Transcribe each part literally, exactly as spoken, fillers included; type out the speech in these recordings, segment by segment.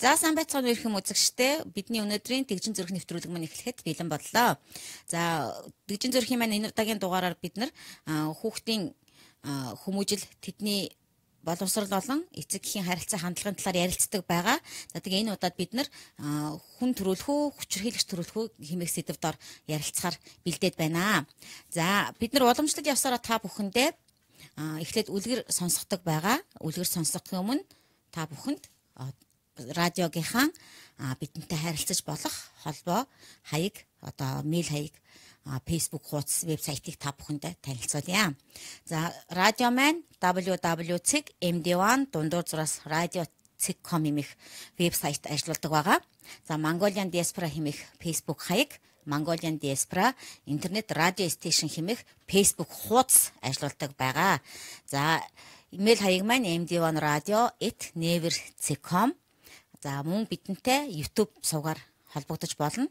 За сайн байцгаана уу үзэгчдээ. Бидний өнөөдрийн Дэгжин зүрх нэвтрүүлэг маань эхлэхэд бэлэн боллоо. За Дэгжин зүрхийн маань энэ удаагийн дугаараар бид нар хүүхдийн хүмүүжил, тэдний боловсрол болон эцэг эхийн харилцаа хандлагын талаар ярилцдаг байгаа. За тэгээ энэ удаад бид нар хүн төрөлх үү, хүчирхийлэгч төрөлх үү хэмээх сэдвээр дор ярилцахаар бэлдээд байна. За бид нар уламжлалт явсараа та бүхэндээ эхлээд үлгэр сонсгодог байгаа. Үлгэр сонсгохын өмнө та бүхэнд радиогийнхаа бидэнтэй харилцаж болох холбоо хаяг, одоо мэйл хаяг, Facebook хуудас, вебсайтыг та бүхэндээ танилцуулъя. За радио маань дабл ю дабл ю точка эм ди один дундуур зураас радио точка ком хэмээх вебсайт ажилладаг байгаа. За Mongolian Diaspora хэмээх Facebook хаяг, Mongolian Diaspora интернет радио стейшн хэмээх Facebook хуудас ажилладаг байгаа. За имэйл хаяг маань эм ди один радио эт невер точка ком. За мөн бидэнтэй YouTube сувгаар холбогдож болно.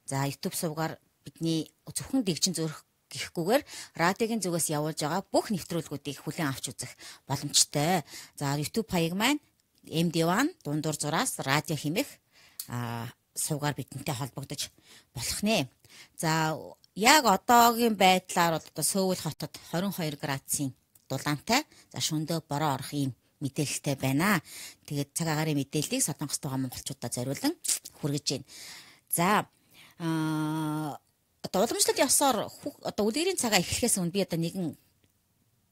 За YouTube сувгаар бидний зөвхөн Дэгжин зүрх гэхгүйгээр радиогийн зүгээс явуулж байгаа бүх нэвтрүүлгүүдийг хүлээн авч үзэх боломжтой. За YouTube хаяг маань эм ди один дундуур зураас радио хэмээх сувгаар бидэнтэй холбогдож болох нэ. За яг одоогийн байдлаар одоо Сөүл хотод двадцать two градусын дулаантай. За шөндөө бороо орох юм мэдээлэлтэй байна. Тэгээд цаг агаарын мэдээллийг Солонгост байгаа монголчуудад зориулан хүргэж байна. За аа одоо уламжлалт явсаар одоо үлгэрийн цагаа эхлэхээс өмнө би одоо нэгэн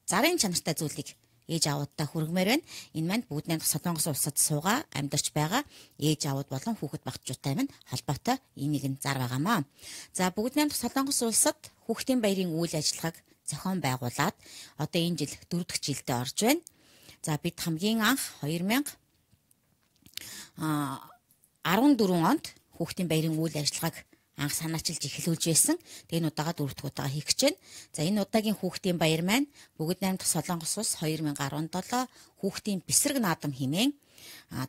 зарын чанартай зүйлийг ээж аавуудтай хүргэмээр байна. Энэ маань бүгд найрамдах Солонгос улсад суугаа амьдарч байгаа ээж аауд болон хүүхэд багцчуудтай маань холбоотой энэ нэгэн зар байгаамаа. За бүгд найрамдах Солонгос улсад хүүхдийн баярын үйл ажиллагааг зохион байгуулад одоо энэ жил дөрөв дэх жилдээ орж байна. За бид хамгийн анх two thousand fourteen онд хүүхдийн баярын үйл ажиллагааг анх санаачилж эхлүүлж байсан. Тэгээ энэ удаага дөрөв дэх удаа хийх гэж байна. За энэ удаагийн хүүхдийн баяр маань бүгд найрамдах Солонгос улс two thousand seventeen хүүхдийн бэсрэг наадам хэмээн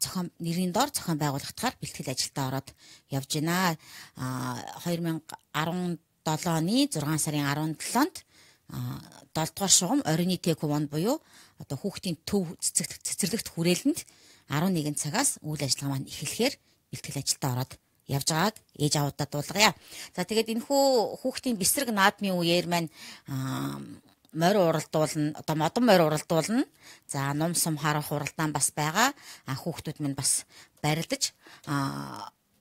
зохион нэрийн дор зохион байгуулагдахаар бэлтгэл ажилдаа ороод явж байна. two thousand seventeen оны зургаан сарын seventh-нд долоо дугаар шугам оройны тэквон буюу одоо хүүхдийн төв цэцэрлэгт хүрээлэнд eleven цагаас үйл ажиллагаа маань эхлэхээр бэлтгэл ажилдаа ороод явж байгааг ээж аавуудад дуулгая. За тэгээд энэхүү хүүхдийн бэсрэг наадмын үеэр маань морь уралдуулна, одоо модон морь уралдуулна. За ном сум харах уралдаан бас байгаа. Хүүхдүүд минь бас барилдаж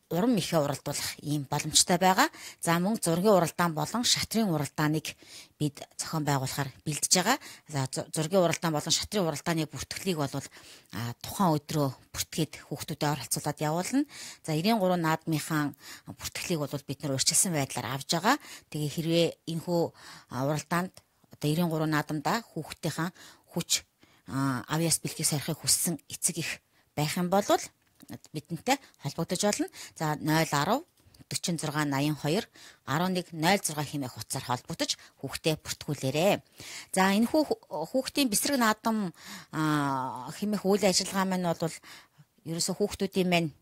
уран мэхээ уралдуулах ийм боломжтой байгаа. За мөн зургийн уралдаан болон шатрын уралдааныг бид зохион байгуулахаар бэлдэж байгаа. За зургийн уралдаан болон шатрын уралдааны бүртгэлийг бол тухайн өдрөө бүртгээд хүүхдүүдэд оролцуулаад явуулна. За ninety three наадмынхаа бүртгэлийг бол бид нар урьдчилсан байдлаар авж байгаа. Тэгээ хэрвээ энэхүү уралдаанд одоо ninety three наадамдаа хүүхдийнхаа хүч авьяас бэлгийг сарихыг хүссэн эцэг их байх юм бол бидэнтэй холбогдож болно. За zero one zero forty-six eighty-two eleven zero six хэмээх утсаар холбогдож хүүхдээ бүртгүүлээрэй. За энэ хүүхдийн бэсрэг наадам хэмээх үйл ажиллагаа маань бол ерөөсө хүүхдүүдийн маань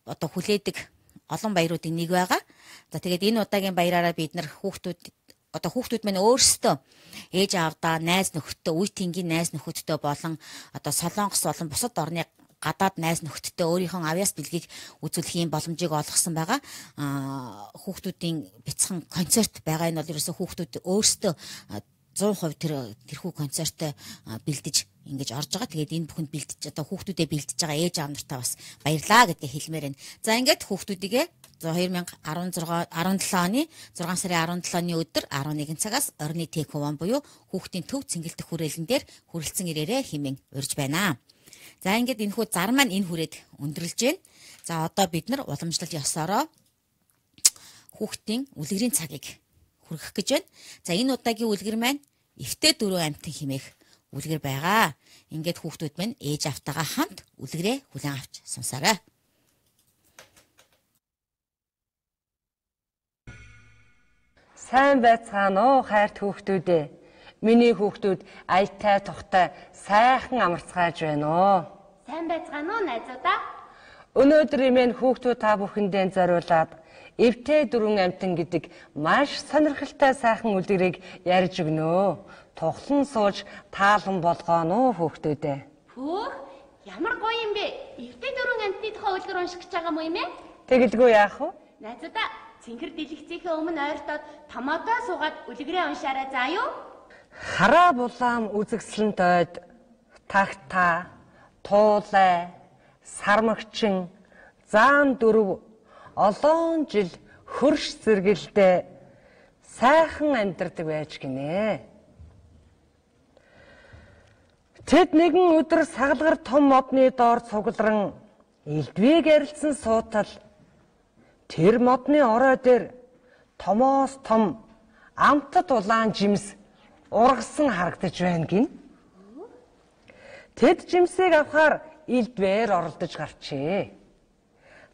одоо хүлээдэг олон баяруудын нэг байгаа. За тэгээд энэ удаагийн баяраараа бид нар хүүхдүүд одоо хүүхдүүд маань өөрсдөө ээж аавдаа, найз нөхөдтэй, үе тэнгийн найз нөхөдтэй болон одоо Солонгос болон бусад орны гадаад найз нөхөдтэй өөрийнхөө авьяас бэлгийг үзүүлэх юм боломжийг олгосон байгаа. Хүүхдүүдийн бяцхан концерт байгаа энэ бол ерөөсөө хүүхдүүд өөрсдөө one hundred percent тэр тэрхүү концертыг бэлдэж ингэж орж байгаа. Тэгээд энэ бүхэнд бэлдэж одоо хүүхдүүдэд бэлдэж байгаа ээж аав нартаа бас баярлаа гэдгийг хэлмээр байна. За ингээд хүүхдүүдийгээ twenty seventeen оны зургаан сарын seventh-ны өдөр eleven цагаас орны тэквон буюу хүүхдийн төв цэнгэлдэх хүрээлэн дээр хүрэлцэн ирээрээ хэмээн урьж байна. За ингээд энэ хүү зар маань энэ хүрээд өндөрлж байна. За одоо бид нар уламжлалт ёсороо хүүхдийн үлгэрийн цагийг хүргэх гэж байна. За энэ удаагийн үлгэр маань эвтэй дөрөв амтан хэмээх үлгэр байгаа. Ингээд хүүхдүүд маань ээж автайгаа хамт үлгэрээ хүлээн авч сонсоорой. Сайн байцгаана уу хайрт хүүхдүүдээ. Миний хүүхдүүд аятай тухтай сайхан амарцгааж байна уу? Сайн байцгаана уу найзуудаа? Өнөөдөр имэн хүүхдүүд та бүхэндээ зориулаад эвтэй дөрвөн амтан гэдэг маш сонирхолтой сайхан үлгэрийг ярьж өгнө. Тухлан сууж таалан болгоно уу хүүхдүүдээ. Хүүх, Ямар гоё юм бэ? Эвтэй дөрвөн амтны тухай үлгэр унших гэж байгаа юм ээ? Тэгэлгүй яах вэ? Найзуудаа цэнхэр дэлгэцийнхээ өмнө ойртоод томоотоо суугаад үлгэрээ уншаарай заа юу? Хараа булаам үзэгслэн дойд тагта, туулай, сармагчин, заан дөрв олон жил хөрш зэрэгэлдээ сайхан амьдардаг байж гинэ. Тэд нэгэн өдөр сагалгар том модны доор цугларан элдвийг ярилцсан суутал тэр модны орой дээр томоос том амтад улаан жимс ургасан харагдаж байна гин. Тэд жимсийг авахаар элдвээр оролдож гарчээ.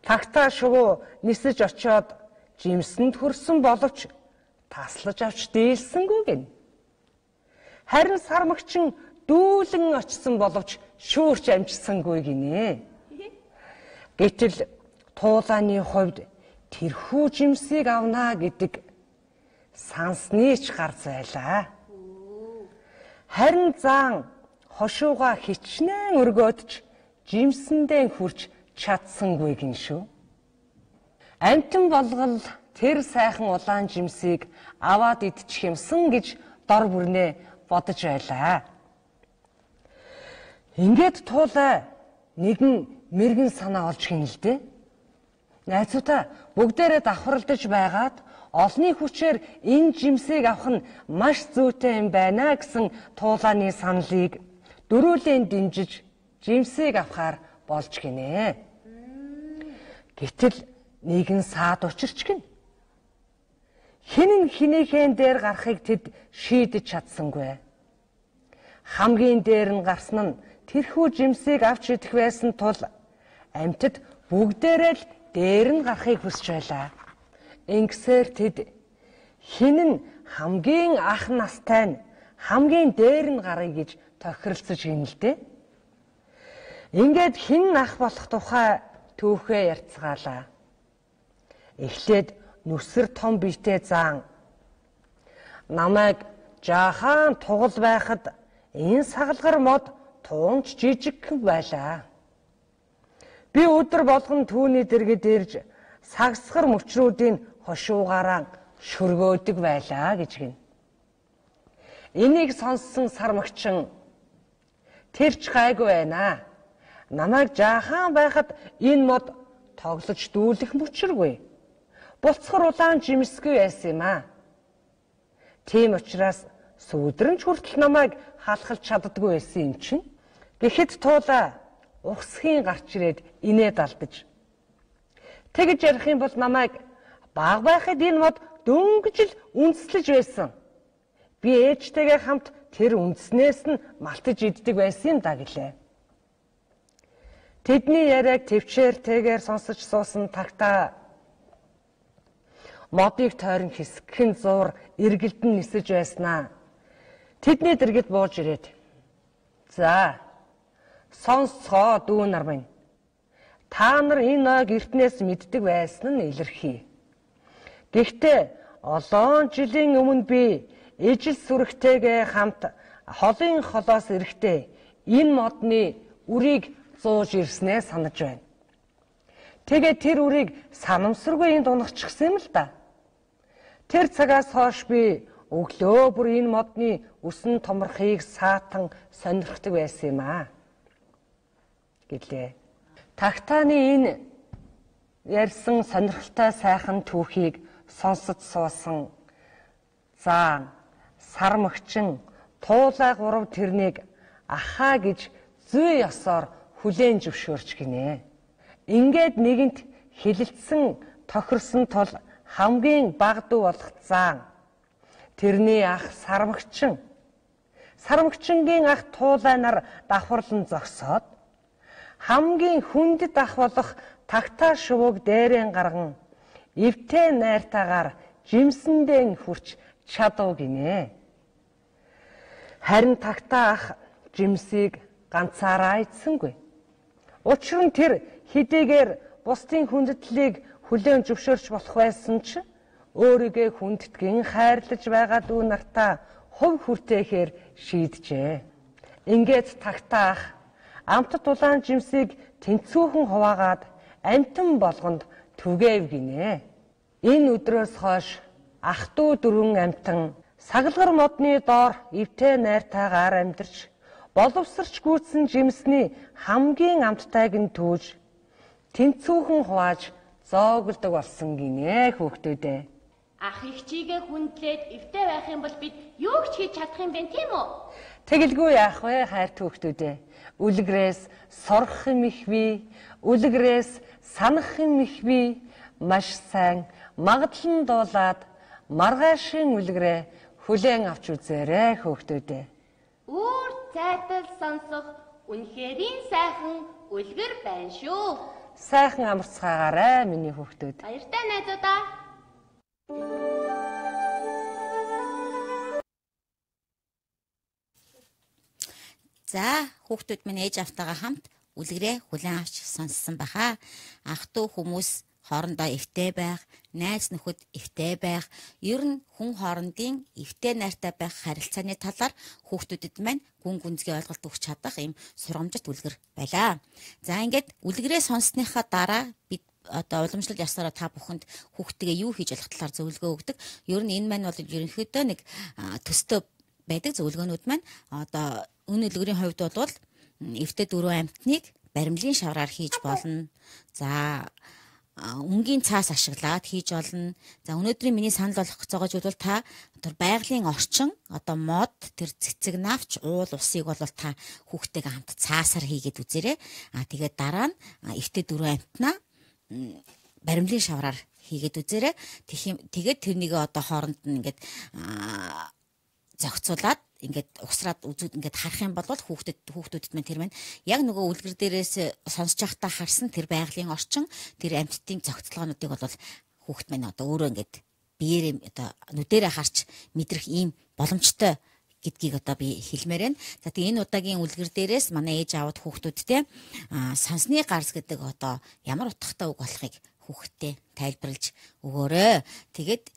Тагтаа шувуу нисэж очиод жимсэнд хүрсэн боловч таслаж авч дийлсэнгүй гин. Харин сармагчин дүүлэн очсон боловч шүүрч амжсангүй гинэ. Гэтэл туулааны хувьд тэрхүү жимсийг авнаа гэдэг сансны ч гарц байлаа. Харин заан хошууга хичнээн өргөөдч жимсэндээ хүрч чадсангүй гин шүү. Амтан болгол тэр сайхан улаан жимсийг аваад идчих юмсан гэж дор бүрнээ бодож байлаа. Ингээд туулай нэгэн мэрэгэн санаа олж хинэлдэ. Найзуудаа бүгдээрээ давхарлаж байгаад олны хүчээр энэ жимсийг авах нь маш зүйтэй юм байна гэсэн туулааны саналыг дөрүүлэн дэмжиж жимсийг авахар болж гинэ. Гэтэл нэгэн саад учирч гин. Хинэн хинийхэн дээр гарахыг тэд шийдэж чадсангүй. Хамгийн дээр нь гарсан нь тэрхүү жимсийг авч идэх байсан тул амьтад бүгдээрээ л дээр нь гарахыг хүсэж байлаа. Ингэсээр тэд хинэн хамгийн ах настай нь хамгийн дээр нь гарыг гэж тохиролцож гинэлдэ. Ингээд хин ах болох тухай түүхээ ярьцгаалаа. Эхлээд нүсэр том биетэй заан намайг жаахан тугал байхад энэ сагалгар мод туунч жижигхэн байлаа. Би өдөр болгон түүний дэргэд ирж сагсгар мөчрүүдийн хошуугаараа шөргөөдөг байлаа гэж гин. Энийг сонссон сармагчин тэр ч гайгүй байна. Намайг жаахан байхад энэ мод тоглож дүүлэх мөчргүй. Буцхар улаан жимсгүй байсан юм аа. Тийм учраас сүүдрэнч хүртэл намайг халахж чаддаггүй байсан юм чинь. Гэхэд туулаа ухсхийн гарч ирээд инээд алдаж. Тэгж ярих юм бол намайг баг байхад энэ мод дөнгөж л үндэслэж байсан. Би ээжтэйгээ хамт тэр үндснээс нь малтаж иддэг байсан юм да гэлээ. Тэдний яриаг төвчээртэйгээр сонсож суусан тагтаа модыг тойрон хэсгэн зуур эргэлдэн нисэж байснаа. Тэдний дэргэд бууж ирээд. За, сонсцоо дүү нар минь. Та нар энэ ноёг эртнээс мэддэг байсан нь илэрхий. Гэхдээ олон жилийн өмнө би ижил сүрэгтэйгээ хамт холын холоос эрэхтэй энэ модны үрийг зууж ирснээ санаж байна. Тэгээ тэр үрийг санамсаргүй энд унахчихсан юм л да. Тэр цагаас хойш би өглөө бүр энэ модны үсэн томрохыг саатан сонирхдаг байсан юм аа. Гэлээ. Тагтааны энэ ярьсан сонирхолтой сайхан түүхийг сонсож суусан заан, сармагчин, туулай гурав тэрнийг ахаа гэж зүй ёсоор хүлээн зөвшөөрч гинэ. Ингээд нэгэнт хилэлцсэн тохирсон тул хамгийн баг дүү болох заан. Тэрний ах сармагчин. Сармагчингийн ах туулай нар давхарлан зогсоод хамгийн хүндэт ах болох тагтаа шувууг дээрэн гарган эвтэй найртаагаар жимсэндээ хүрч чадав гинэ. Харин тагтаа ах жимсийг ганцаараа идсэнгүй. Учир нь тэр хэдийгээр бусдын хүндэтлийг хүлээн зөвшөөрч болох байсан ч өөрийгөө хүндэтгэн хайрлаж байгаа дүү нартаа хувь хүртээхээр шийджээ. Ингээд тагтаа ах амтд улаан жимсийг тэнцүүхэн хуваагаад амтан болгонд түгээв гинэ. Энэ өдрөөс хойш ах дүү дөрвөн амтан сагалгар модны доор эвтэй найртайгаар амьдарч боловсрч гүйцсэн жимсний хамгийн амттайг нь түүж тэнцүүхэн хувааж зоогддог болсон гинэ хүүхдүүдээ. Ах их чигээ хүндлээд эвтэй байх юм бол бид юу ч хийж чадах юм бэ тийм үү? Тэгэлгүй яах вэ хайр хүүхдүүдээ. Үлгэрээс сурах юм их бий, үлгэрээс санах юм их бий, маш сайн магадлан дуулаад маргаашийн үлгэрээ хүлээн авч үзээрэй хүүхдүүдээ. Үүр цайтал сонсох үнэхэрийн сайхан үлгэр байна шүү. Сайхан амарцгаагаарай миний хүүхдүүд. Баяртай найзуудаа. За хүүхдүүд минь ээж автайгаа хамт үлгэрээ хүлээн авч сонссон баха. Ах дүү хүмүүс хоорондоо эвтэй байх, найз нөхөд эвтэй байх, ер нь хүн хоорондын эвтэй найртай байх харилцааны талаар хүүхдүүдэд маань гүн гүнзгий ойлголт өгч чадах ийм сургамжит үлгэр байлаа. За ингээд үлгэрээ сонссныхаа дараа бид одоо уламжлал ясаараа та бүхэнд хүүхдтэйгээ юу хийж болох талаар зөвлөгөө өгдөг. Ер нь энэ маань бол ерөнхийдөө нэг төстэй байдаг зөвлөгөөнүүд маань одоо өн үлгэрийн хувьд бол эвтэй дөрвөн амтныг баримлын шавраар хийж болно. За өнгийн цаас ашиглаад хийж болно. За өнөөдрийн миний санал болгох зогоож бол та тэр байгалийн орчин одоо мод тэр цэцэг навч уул усыг бол та хүүхдтэйгээ хамт цаасаар хийгээд үзээрэй. А тэгээд дараа нь эвтэй дөрвөн амтнаа баримлын шавраар хийгээд үзээрэй. Тэгээд тэрнийг одоо хооронд нь ингээд зохицуулаад ингээд усраад үзүүд ингээд харах юм бол хүүхдэд хүүхдүүдэд мань тэр маань яг нөгөө үлгэр дээрээс сонсож байхдаа харсан тэр байгалийн орчин тэр амьтдын зохицолгоонуудыг бол хүүхд маань одоо өөрөө ингээд биеэр одоо нүдэрээ харж мэдрэх ийм боломжтой гэдгийг одоо би хэлмээр байна. За тэгээ энэ удаагийн үлгэр дээрээс манай ээж аавд хүүхдүүдтэй сонсны гарц гэдэг одоо ямар утгатай үг болохыг хүүхдтэй тайлбарлаж өгөөрэй. Тэгээд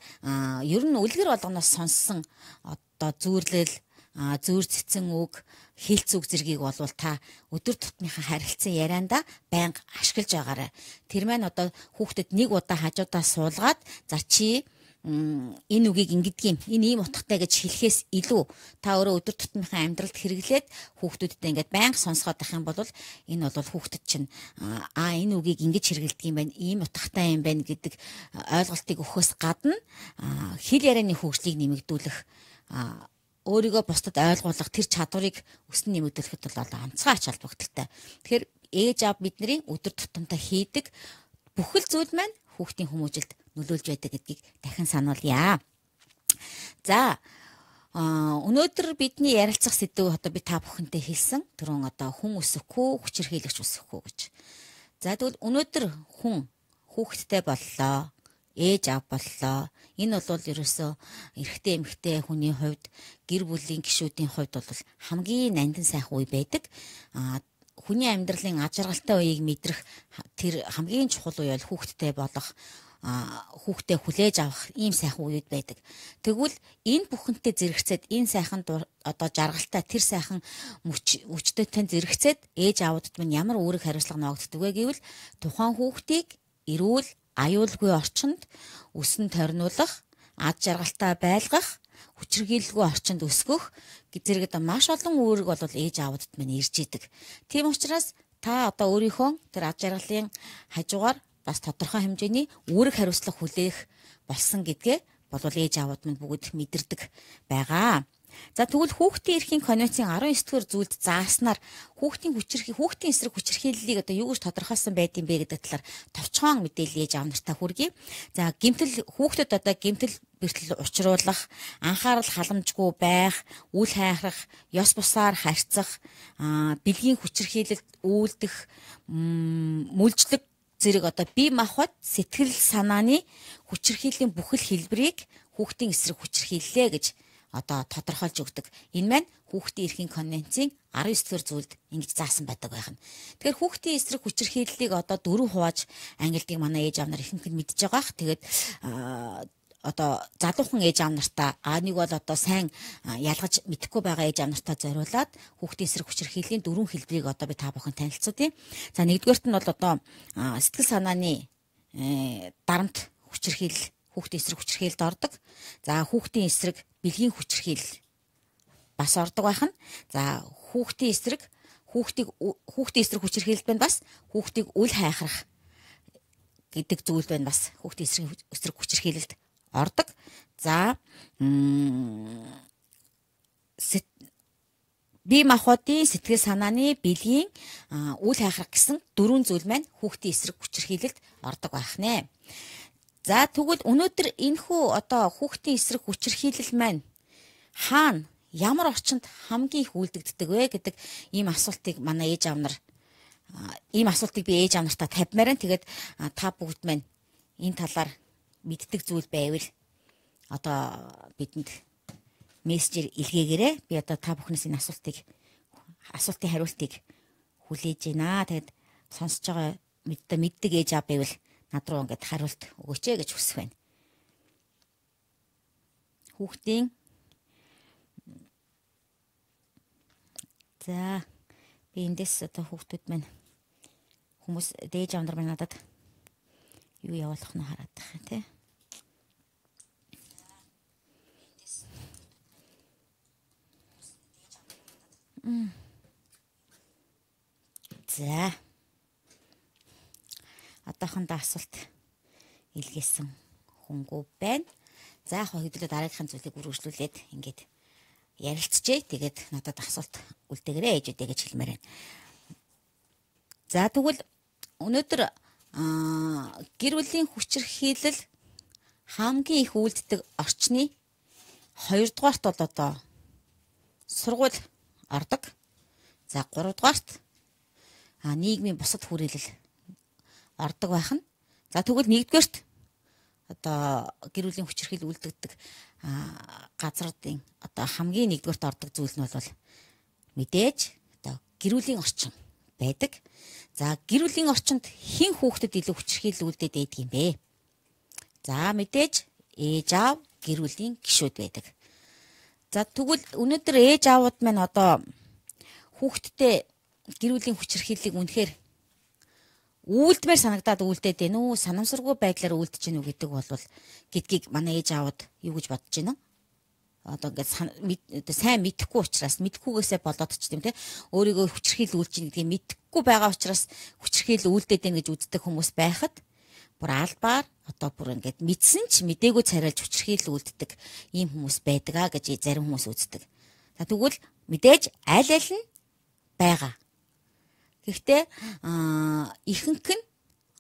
ер нь үлгэр болгоноос сонссон одоо зүүрлэл зүүр цэцэн үг, хэлц үг зэргийг бол та өдөр тутмынхаа харилцан ярианда байнга ашиглаж байгаарай. Тэр маань одоо хүүхдэд нэг удаа хажуудаа суулгаад за чи энэ үгийг ингэдэг юм, энэ ийм утгатай гэж хэлэхээс илүү та өөрөө өдөр тутмынхаа амьдралд хэрэглээд хүүхдүүдтэй ингээд байнга сонсгоод байх юм бол энэ бол хүүхдэд чинь аа энэ үгийг ингэж хэрэглэдэг юм байна, ийм утгатай юм байна гэдэг ойлголтыг өгөхөөс гадна хэл ярианы хөгжлийг нэмэгдүүлэх өөрийгөө бусдад ойлгуулах тэр чадварыг өснө нэмэгдүүлэхэд бол онцгой ач холбогдолтой. Тэгэхээр ээж аав бидний өдөр тутамдаа хийдэг бүхэл зүйл маань хүүхдийн хүмүүжилд нөлөөлж байдаг гэдгийг дахин сануулъя. За өнөөдөр бидний ярилцах сэдв одоо би та бүхэнтэй хэлсэн түрүүн одоо хүн өсөхгүй, хүчирхийлэгч өсөхгүй гэж. За тэгвэл өнөөдөр хүн хүүхэдтэй боллоо. Ээж аав боллоо. Энэ бол ерөөсөө эрэгтэй эмэгтэй хүний хувьд гэр бүлийн гишүүдийн хувьд бол хамгийн нандин сайхан үе байдаг. А хүний амьдралын ажиргалтай үеийг мэдрэх тэр хамгийн чухал үе бол хүүхэдтэй болох хүүхдээ хүлээж авах ийм сайхан үед байдаг. Тэгвэл энэ бүхэнтэй зэрэгцээд энэ сайхан одоо жаргалтай тэр сайхан мөчтөйтэй зэрэгцээд ээж аавдад минь ямар үүрэг хариуцлага ногддог вэ гэвэл тухайн хүүхдийг эрүүл аюулгүй орчинд өсөн тойрнуулах, ад жаргалтай байлгах, хүчирхийлэлгүй орчинд өсгөх зэрэг одоо маш олон үүрэг бол ээж аавдад минь ирж идэг. Тийм учраас та одоо өөрийнхөө тэр ад жаргалын хажуугаар бас тодорхой хэмжээний үүрэг хариуцлага хүлээх болсон гэдгээ бол ээж аавууд минь бүгд мэдэрдэг байгаа. За тэгвэл хүүхдийн эрхийн конвенцийн арван ёс дугаар зүйлд зааснаар хүүхдийн хүчирхий хүүхдийн эсрэг хүчирхийллийг одоо юу гэж тодорхойлсон байдсан бэ гэдэг талаар товчхон мэдээлэл ээж аав нартай хүргэе. За гэмтэл хүүхдэд одоо гэмтэл бэртэл учруулах, анхаарал халамжгүй байх, үл хайхрах, ёс бусаар харьцах, бэлгийн хүчирхийлэлд үйлдэх, мүлжлэг зэрэг одоо бие махбод сэтгэл санааны хүчирхийллийн бүхэл хэлбэрийг хүүхдийн эсрэг хүчирхийллээ гэж одоо тодорхойлж өгдөг. Энэ маань хүүхдийн эрхийн конвенцийн арван ёс дугаар зүйлд ингэж заасан байдаг байх нь. Тэгэхээр хүүхдийн эсрэг хүчирхийллийг одоо дөрөв хувааж ангилдаг манай ээж аав нар ихэнх нь мэдж байгаа х. Тэгээд одоо залуухан ээж аав нартаа аа нэг бол одоо сайн ялгаж мэдэхгүй байгаа ээж аав нартаа зориулаад хүүхдийн эсрэг хүчирхийллийн дөрвөн хэлбэрийг одоо би та бүхэн танилцуулъя. За нэгдүгээрт нь бол одоо сэтгэл санааны дарамт хүчирхийл хүүхдийн эсрэг хүчирхийлд ордог. За хүүхдийн эсрэг бэлгийн хүчирхийл бас ордог байх нь. За хүүхдийн эсрэг хүүхдийг хүүхдийн эсрэг хүчирхийлд байна бас хүүхдийг үл хайхрах гэдэг зүйл байна бас хүүхдийн эсрэг эсрэг хүчирхийлэлд ордог. За бие махбодын сэтгэл санааны бэлгийн үл хайхрах гэсэн дөрвөн зүйл маань хүүхдийн эсрэг хүчирхийлэлд ордог байх нэ. За тэгвэл өнөөдөр энэхүү одоо хүүхдийн эсрэг хүчирхийлэл маань хаана ямар орчинд хамгийн их үйлдэгддэг вэ гэдэг ийм асуултыг манай ээж аав нар ийм асуултыг би ээж аав нартаа тавьмаар нь. Тэгээд та бүгд маань энэ талаар мэддэг зүйл байвал одоо бидэнд мессежээр илгээгээрэй. Би одоо та бүхнээс энэ асуултыг асуултын хариултыг хүлээж байна. Тэгээд сонсож байгаа мэддэг мэддэг ээж аав байвал над руу ингээд хариулт өгөөч ээ гэж хүсэх байна. Хүүхдийн за би эндээс одоо хүүхдүүд маань хүмүүс дээж аав нар маань надад юу явуулах нь хараад байгаа тий. За одоохондоо асуулт илгээсэн хүнгүй байна. За яг хэдүүлээ дараагийнхын зүйлийг үргэлжлүүлээд ингээд ярилцчихъя. Тэгээд надад асуулт үлдээгээрэй ээжүүдээ гэж хэлмээр байна. За тэгвэл өнөөдөр гэр бүлийн хүчирхийлэл хамгийн их үйлддэг орчны хоёрдугаарт бол одоо сургууль ордог. За гуравдугаарт нийгмийн бусад хүрээлэл ордог байх нь. За тэгвэл нэгдүгээрт одоо гэр бүлийн хүчирхийлэл үйлдэгдэг газруудын одоо хамгийн нэгдүгээрт ордог зүйл нь бол мэдээж одоо гэр бүлийн орчин байдаг. За гэр бүлийн орчинд хэн хүүхдэд илүү хүчирхийлэл үйлдээд байдаг юм бэ? За мэдээж ээж аав гэр бүлийн гишүүд байдаг. За тэгвэл өнөөдөр ээж аавууд маань одоо хүүхдтэй гэр бүлийн хүчирхийллийг үнэхээр үйлдмээр санагдаад үйлдээд байна уу, санамсаргүй байдлаар үйлдэж гэнэ үү гэдэг бол гэдгийг манай ээж аавууд юу гэж бодож байна? Одоо ингээд сайн мэдэхгүй учраас мэдэхгүйгээсээ болоод ч тийм те өөрийгөө хүчирхийлэл үйлж гэнэ гэдгийг мэдэхгүй байгаа учраас хүчирхийлэл үйлдээд байна гэж үздэг хүмүүс байхад бүр албаар одоо бүр ингээд мэдсэн ч мдээгүй царайлж хүчирхийлэл үйлддэг ийм хүмүүс байдаг а гэж зарим хүмүүс үздэг. За тэгвэл мэдээж аль аль нь байгаа. Гэхдээ ихэнх нь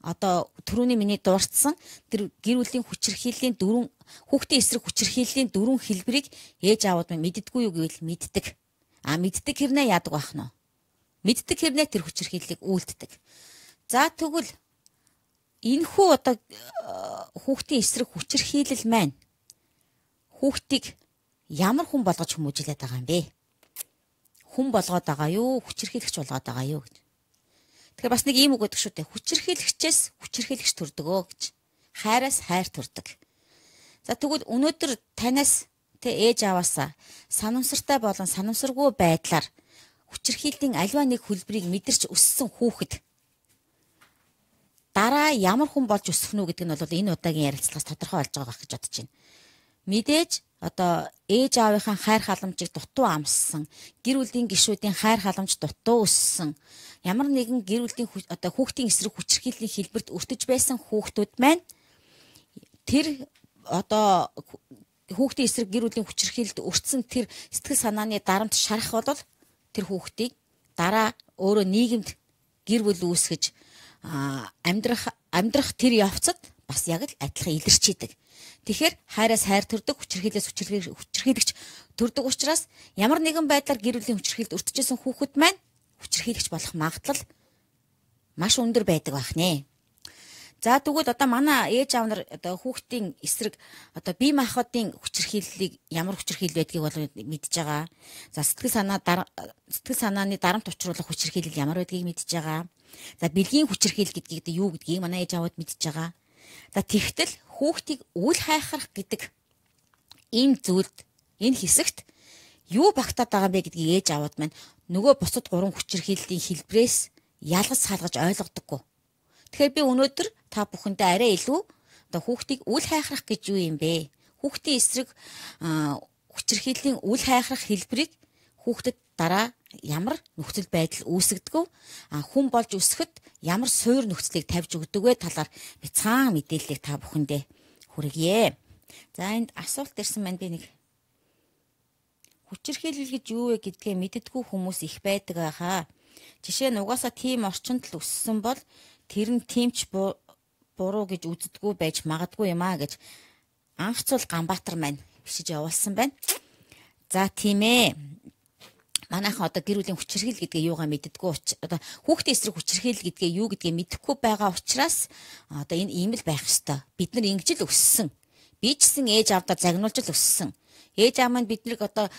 одоо түрүүний миний дуурцсан тэр гэр бүлийн хүчирхийллийн дөрвөн хүүхдийн эсрэг хүчирхийллийн дөрвөн хэлбэрийг ээж аавууд маань мэддэггүй юу гэвэл мэддэг. А мэддэг хэрнээ яадаг байх нь вэ? Мэддэг хэрнээ тэр хүчирхийллийг үйлддэг. За тэгвэл энэхүү одоо хүүхдийн эсрэг хүчирхийлэл маань хүүхдийг ямар хүн болгож хүмүүжүүлээд байгаа юм бэ? Хүн болгоод байгаа юу? Хүчирхийлэгч болгоод байгаа юу гэж. Тэгэхээр бас нэг ийм үг гэдэг шүү дээ. Хүчирхийлэгчээс хүчирхийлэгч төрдөгөө гэж. Хайраас хайр төрдөг. За тэгвэл өнөөдөр танаас тэ ээж аваасаа санамсартай болон санамсаргүй байдлаар хүчирхийллийн аливаа нэг хөлбрийг мэдэрч өссөн хүүхэд дараа ямар хүн болж өсөх нь гэдэг нь бол энэ удаагийн ярилцлагаас тодорхой болж байгаа гэж бодож байна. Мэдээж одоо ээж аавынхаа хайр халамжийг дутуу амссан, гэр бүлийн гишүүдийн хайр халамж дутуу өссөн, ямар нэгэн гэр бүлийн одоо хүүхдийн эсрэг хүчирхийллийн хэлбэрт өртөж байсан хүүхдүүд маань тэр одоо хүүхдийн эсрэг гэр бүлийн хүчирхийлэлд өртсөн тэр сэтгэл санааны дарамт шарах бол тэр хүүхдийг дараа өөрөө нийгэмд гэр бүл үүсгэж амьдрах амьдрах тэр явцад бас яг л адилхан илэрчийдэг. Тэгэхээр хайраас хайр төрдөг, хүчирхийлээс хүчирхийлэгч төрдөг учраас ямар нэгэн байдлаар гэр бүлийн хүчирхийлэлд өртөжсэн хүүхэд маань хүчирхийлэгч болох магадлал маш өндөр байдаг байх нэ. За тэгвэл одоо манай ээж аав нар одоо хүүхдийн эсрэг одоо бие махбодын хүчирхийллийг ямар хүчирхийлэл байдгийг бол мэдж байгаа. За сэтгэл санаа сэтгэл санааны дарамт учруулах хүчирхийлэл ямар байдгийг мэдж байгаа. За бэлгийн хүчирхийлэл гэдгийг юу гэдгийг манай ээж аавууд мэдж байгаа. За тэгтэл хүүхдийг үл хайхрах гэдэг энэ зүйлд энэ хэсэгт юу багтаад байгаа бэ гэдгийг ээж аваад маань нөгөө бусад гурван хүчирхийллийн хэлбрээс ялгаж салгаж ойлгодоггүй. Тэгэхээр би өнөөдөр та бүхэндээ арай илүү одоо хүүхдийг үл хайхрах гэж юу юм бэ? Хүүхдийн эсрэг хүчирхийллийн үл хайхрах хэлбэрийг хүүхдэд дараа ямар нөхцөл байдал үүсгдэг вэ? Хүн болж өсөхөд ямар суур нөхцөлийг тавьж өгдөг вэ талаар бяцхан мэдээллийг та бүхэндээ хүргье. За энд асуулт ирсэн маань би нэг хүчирхийлэл гэж юу вэ гэдгээ мэддэггүй хүмүүс их байдаг байхаа. Жишээ нь угаасаа тийм орчинд л өссөн бол тэр нь тиймч буруу гэж үздэггүй байж магадгүй юм аа гэж анхцул Ганбаатар маань бишиж явуулсан байна. За тийм ээ. Манайхан одоо гэр бүлийн хүчирхийлэл гэдгээ юугаа мэддэггүй одоо хүүхдийн эсрэг хүчирхийлэл гэдгээ юу гэдгээ мэдэхгүй байгаа учраас одоо энэ ийм л байх ёстой. Бид нар ингэж л өссөн. Би ч гэсэн ээж авдаа загнуулж л өссөн. Ээж аав маань биднийг одоо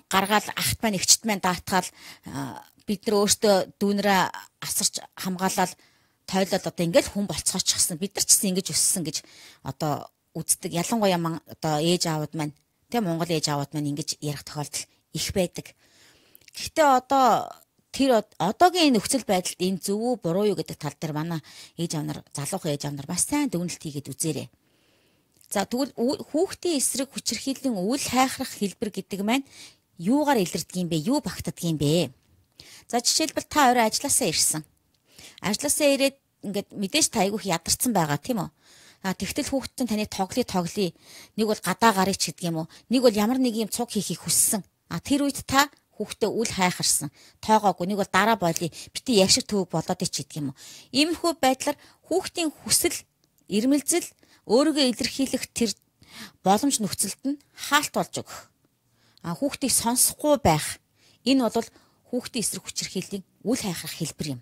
гаргаал ахт маань эгчт маань даатгаал бид нар өөртөө дүүнрээ асарч хамгаалал тойлол одоо ингээл хүн болцоочихсан. Бид нар ч гэсэн ингэж өссөн гэж одоо үздэг. Ялангуяа ман одоо ээж аавууд маань тэг Монгол ээж аавууд маань ингэж ярих тохиолдол их байдаг. Гэхдээ одоо тэр одоогийн нөхцөл байдалд энэ зөв үү буруу юу гэдэг тал дээр манай ээж аав нар залуухан ээж аав нар бас сайн дүгнэлт хийгээд үзээрэй. За тэгвэл хүүхдийн эсрэг хүчирхийллийн үл хайхрах хэлбэр гэдэг маань юугаар илэрдэг юм бэ? Юу багтдаг юм бэ? За жишээлбэл та орой ажилласаа ирсэн. Ажилласаа ирээд ингээд мэдээж та айгүйх ядарсан байгаа тийм үү? А тэгтэл хүүхдтэй таны тоглоё тоглоё. Нэг бол гадаа гарыг ч гэдэг юм уу? Нэг бол ямар нэг юм цуг хийхийг хүссэн. А тэр үед та хүүхдээ үл хайхарсан. Тоогоогүй нэг бол дараа боолыг бити яг шиг төвөг болоод ич гэдэг юм уу? Иймэрхүү байдлаар хүүхдийн хүсэл, ирмэлзэл өөрийгөө илэрхийлэх тэр боломж нөхцөлд нь хаалт болж өгөх. А хүүхдийг сонсохгүй байх. Энэ бол хүүхдийн эсрэг хүчирхийллийн үл хайхрах хэлбэр юм.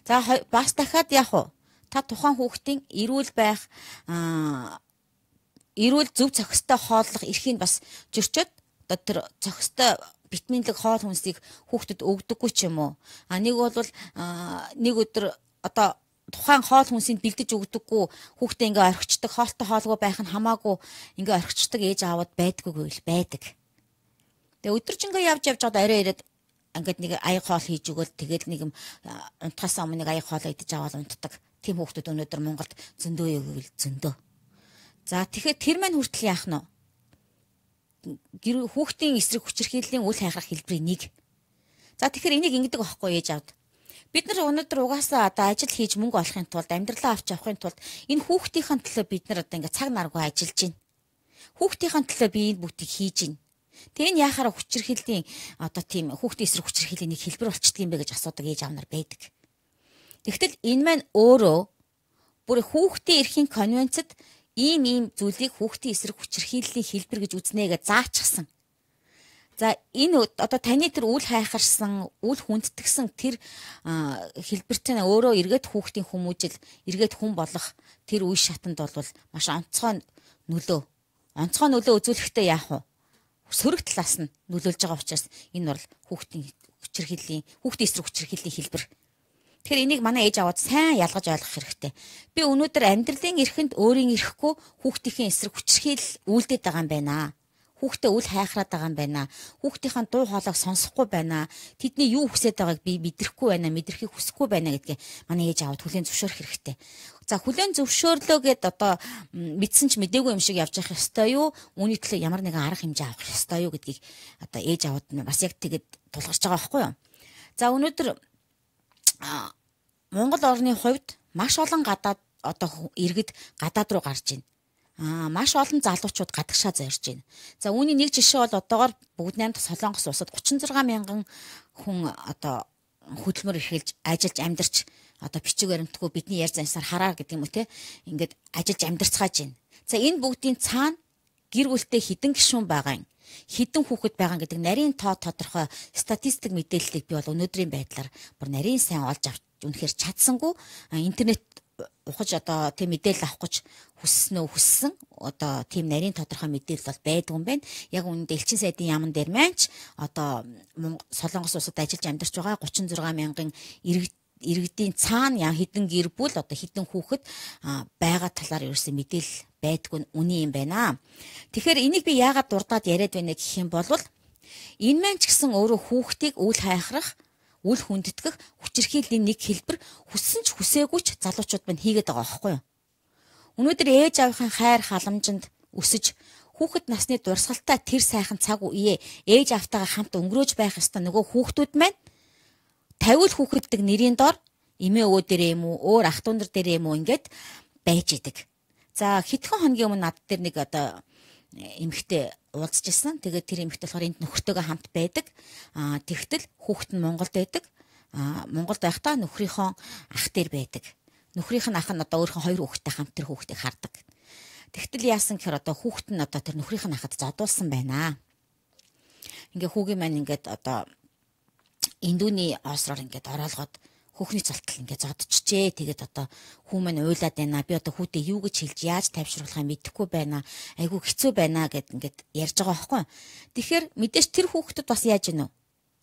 За бас дахиад яг уу та тухайн хүүхдийн эрүүл байх эрүүл зөв зохистой хооллох эрхийг бас зөрчөөд одоо тэр зохистой витаминлэг хоол хүнсийг хүүхдэд өгдөггүй ч юм уу. А нэг бол нэг өдөр одоо тухайн хоол хүнсийг бэлдэж өгдөггүй хүүхдээ ингээ орхичдаг хоолтой хоолгүй байх нь хамаагүй ингээ орхичдаг ээж аавууд байдаггүй л байдаг. Тэгээ өдөржингөө явж явж одоо арай ирээд ингээд нэг аяг хоол хийж өгөөл тэгэл нэг юм унтахаас өмнө нэг аяг хоол идэж аваад унтдаг. Тийм хүүхдүүд өнөөдөр Монголд зөндөө өгөөл зөндөө. За тэгэхээр тэр маань хүртэл яах нь гэр хүүхдийн эсрэг хүчирхийллийн үл хайхрах хэлбэрийн нэг. За тэгэхээр энийг ингэдэг байхгүй ээж аавд. Бид нар өнөөдөр угаасаа одоо ажил хийж мөнгө олохын тулд амьдралаа авч явахын тулд энэ хүүхдийн төлөө бид нар одоо ингээ цаг наргүй ажиллаж байна. Хүүхдийн төлөө би энэ бүтийг хийж байна. Тэгээ энэ яхаараа хүчирхийллийн одоо тийм хүүхдийн эсрэг хүчирхийллийн нэг хэлбэр болчдөг юм бэ гэж асуудаг ээж аав нар байдаг. Тэгтэл энэ маань өөрөө бүр хүүхдийн эрхийн конвенцэд ийм ийм зүйлийг хүүхдийн эсрэг хүчирхийллийн хэлбэр гэж үзнэ гэж заачсан. За энэ одоо таны тэр үл хайхарсан, үл хүндтгсэн тэр хэлбэртээ өөрөө эргээд хүүхдийн хүмүүжил, эргээд хүн болох тэр үе шатанд бол маш онцгой нөлөө. Онцгой нөлөө үзүүлэхдээ яах вэ? Сөрөг талаас нь нөлөөлж байгаа учраас энэ бол хүүхдийн хүчирхийллийн, хүүхдийн эсрэг хүчирхийллийн хэлбэр. Тэгэхээр энийг манай ээж аваад сайн ялгаж ойлгох хэрэгтэй. Би өнөөдөр амьдралын эрхэнд өөрийн эрэхгүй хүүхдийн эсрэг хүчирхийлэл үйлдээд байгаа юм байна. Хүүхдээ үл хайхраад байгаа юм байна. Хүүхдийн дуу хоолойг сонсохгүй байна. Тэдний юу хүсэж байгааг би мэдрэхгүй байна, мэдрэхийг хүсэхгүй байна гэдгээ манай ээж аваад хүлээн зөвшөөрөх хэрэгтэй. За хүлээн зөвшөөрлөө гэд одоо мэдсэн ч мэдээгүй юм шиг явж явах ёстой юу? Үүний төлөө ямар нэгэн арга хэмжээ авах ёстой юу гэдгийг одоо ээж аваад бас яг тэгээд тулгарч байгаа байхгүй юу? За өнөөдөр Монгол орны хувьд маш олон гадаад одоо иргэд гадаад руу гарч байна. Аа маш олон залуучууд гадагшаа зорж байна. За үүний нэг жишээ бол одоогоор бүгд найрамдах Солонгос улсад гучин зургаан мянган хүн одоо хөдөлмөр эрхэлж ажиллаж амьдарч одоо бичиг баримтгүй бидний ярьж зансаар хараа гэдэг юм уу те ингээд ажиллаж амьдарцгааж байна. За энэ бүгдийн цаана гэр бүлтэй хідэн гишүүн байгаа юм. Хідэн хүүхэд байгаа гэдэг нарийн тоо тодорхой статистик мэдээллийг би бол өнөөдрийн байдлаар бүр нарийн сайн олж авч үнэхээр чадсангүй интернет ухаж одоо тийм мэдээлэл авах гэж хүссэн үү хүссэн одоо тийм нарийн тодорхой мэдээлэл бол байдгүй юм байна. Яг үүнд элчин сайдын яамн дээр маань ч одоо Солонгос улсад ажиллаж амьдарч байгаа гучин зургаан мянган иргэд иргэдийн цаана яа хідэн гэр бүл одоо хідэн хүүхэд байгаа талаар ерөөсөө мэдээлэл байдгүй үний юм байна. Тэгэхээр энийг би яагаад дурдаад яриад байна гэх юм бол энэ маань ч гэсэн өөрөө хүүхдийг үл хайхрах, үл хүндэтгэх хүчирхийллийн нэг хэлбэр хүссэн ч хүсээгүй ч залуучууд мань хийгээд байгаа байхгүй юу? Өнөөдөр ээж аавынхаа хайр халамжинд өсөж хүүхэд насны дурсгалтай тэр сайхан цаг үеэ ээж автайгаа хамт өнгөрөөж байх ёстой нөгөө хүүхдүүд маань тавиул хүүхэддэг нэрийн дор эмээ өвөө дээрээ юм уу өөр ах дүүнэр дээрээ юм уу ингээд байж идэг. За хэдхэн хоногийн өмнө над дээр нэг одоо эмэгтэй уулзж ирсэн. Тэгээд тэр эмэгтэй болохоор энд нөхөртөөгөө хамт байдаг. Аа тэгтэл хүүхэд нь Монголд байдаг. Аа Монголд байхдаа нөхрийнхөө ах дээр байдаг. Нөхрийнх нь ах нь одоо өөрийнхөө хоёр хүүхэдтэй хамт тэр хүүхдийг хардаг. Тэгтэл яасан гэхээр одоо хүүхэд нь одоо тэр нөхрийнх нь ахад зодуулсан байна. Ингээ хүүгийн маань ингээд одоо эндүүний оосроор ингээд ороолгоод хүүхний цалтал ингээд зодчихжээ. Тэгээд одоо хүү маань уйлаад байна. Би одоо хүүтэй юу гэж хэлж яаж тайвшруулахаа мэдэхгүй байна. Айгүй хэцүү байна гэд ингээд ярьж байгаа байхгүй. Тэгэхээр мэдээж тэр хүүхдэд бас яаж гинөө?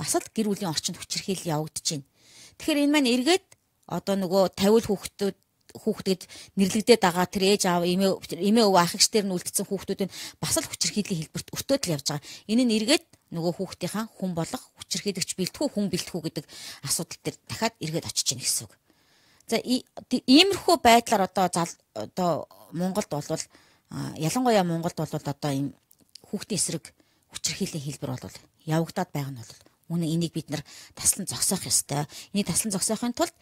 Бас л гэр бүлийн орчинд хүчирхийлэл явагдаж байна. Тэгэхээр энэ маань эргээд одоо нөгөө тавиул хүүхдүүд хүүхдэд нэрлэгдээд байгаа тэр ээж аав эмээ эмээ өвөө ахигч дээр нь үлдсэн хүүхдүүд нь бас л хүчирхийллийн хэлбэрт өртөөд л явж байгаа. Энэ нь эргээд нөгөө хүүхдийнхаа хүн болох хүчирхийлэгч бэлтгүү хүн бэлтгүү гэдэг асуудал дээр дахиад эргээд очиж гэнэ гэсэн үг. За иймэрхүү байдлаар одоо одоо Монголд болвол ялангуяа Монголд болвол одоо ийм хүүхдийн эсрэг хүчирхийллийн хэлбэр бол явагдаад байгаа нь бол үнэн энийг бид нар таслан зогсоох ёстой. Энийг таслан зогсоохын тулд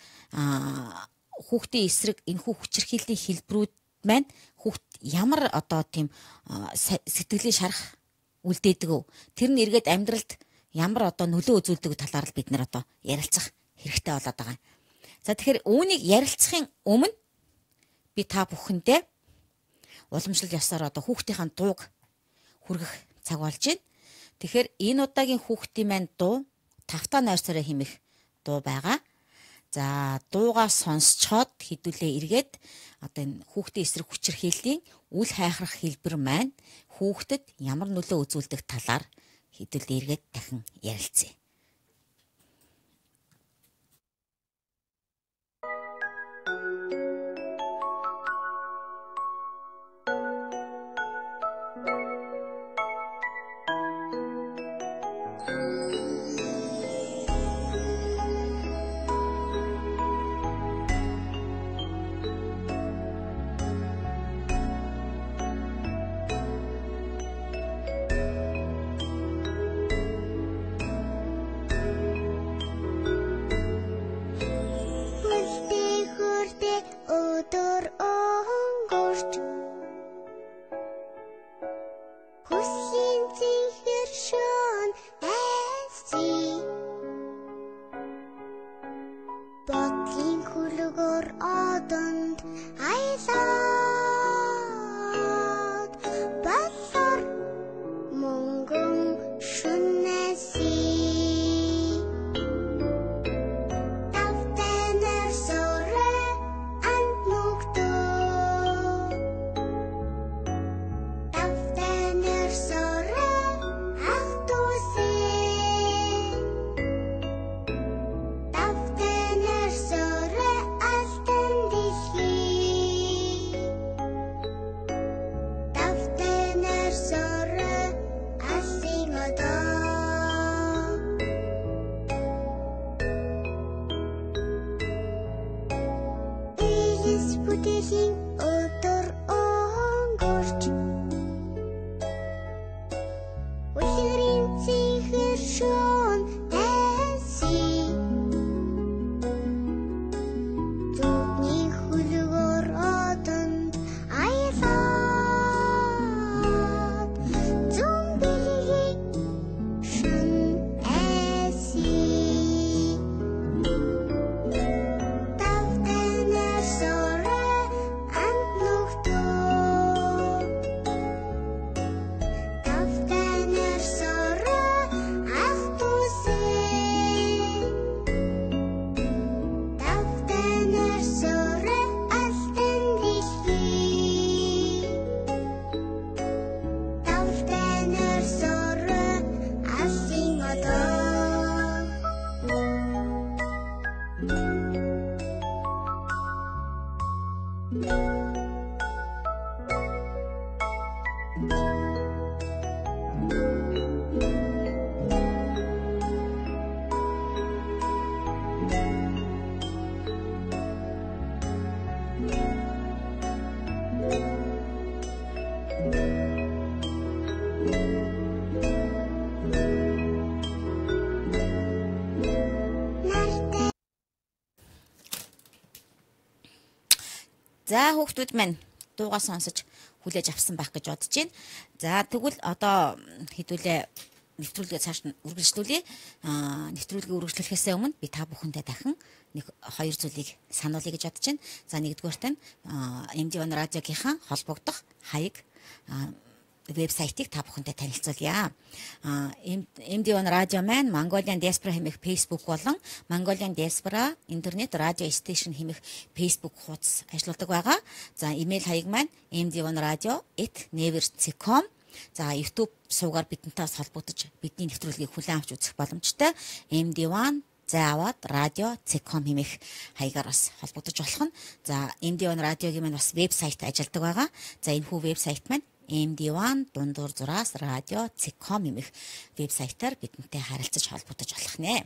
хүүхдийн эсрэг энэхүү хүчирхийллийн хэлбэрүүд маань хүүхд ямар одоо тийм сэтгэлийн шарах үлдээдэг вэ? Тэр нь эргээд амьдралд ямар одоо нөлөө үзүүлдэг талаар л бид нар одоо ярилцах хэрэгтэй болоод байгаа. За тэгэхээр үүнийг ярилцахын өмнө би та бүхэндээ уламжлал ёсоор одоо хүүхдийн дууг хүргэх цаг болж байна. Тэгэхээр энэ удаагийн хүүхдийн маань дуу тавтаа нойрсороо хэмэх дуу байгаа. За дуугаа сонсцоод хэдүүлээ эргээд одоо энэ хүүхдийн эсрэг хүчирхийллийн үл хайхрах хэлбэр маань хүүхдэд ямар нөлөө үзүүлдэг талаар хэдүүлээ эргээд дахин ярилцъя. За хүүхдүүд маань дуугаа сонсож хүлээж авсан байх гэж бодож байна. За тэгвэл одоо хэдүүлээ нэвтрүүлгээ цааш нь үргэлжлүүлье. Аа нэвтрүүлгээ үргэлжлүүлэхээс өмнө би та бүхэндээ дахин нэг хоёр зүйлийг сануулъя гэж бодож байна. За нэгдүгээрт нь эм ди один радиогийнхаа холбогдох хаяг вебсайтыг та бүхэндээ танилцуулъя. эм ди один радио маань Mongolian Diaspora хэмээх Facebook болон Mongolian Diaspora интернет радио стейшн хэмээх Facebook хуудас ажилладаг байгаа. За имэйл хаяг маань эм ди один радио эт never dot com. За YouTube суугаар бидэнтэй холбогдож бидний нэвтрүүлгийг хүлээн авч үзэх боломжтой. эм ди один заавад радио дот ком хэмээх хаягаар бас холбогдож болох нь. За эм ди один радиогийн маань бас вебсайт ажилладаг байгаа. За энэ хүү вебсайт маань эм ди один дундуур зураас радио дот ком хэмээх вебсайтаар бидэнтэй харилцаж холбогдож болох нэ.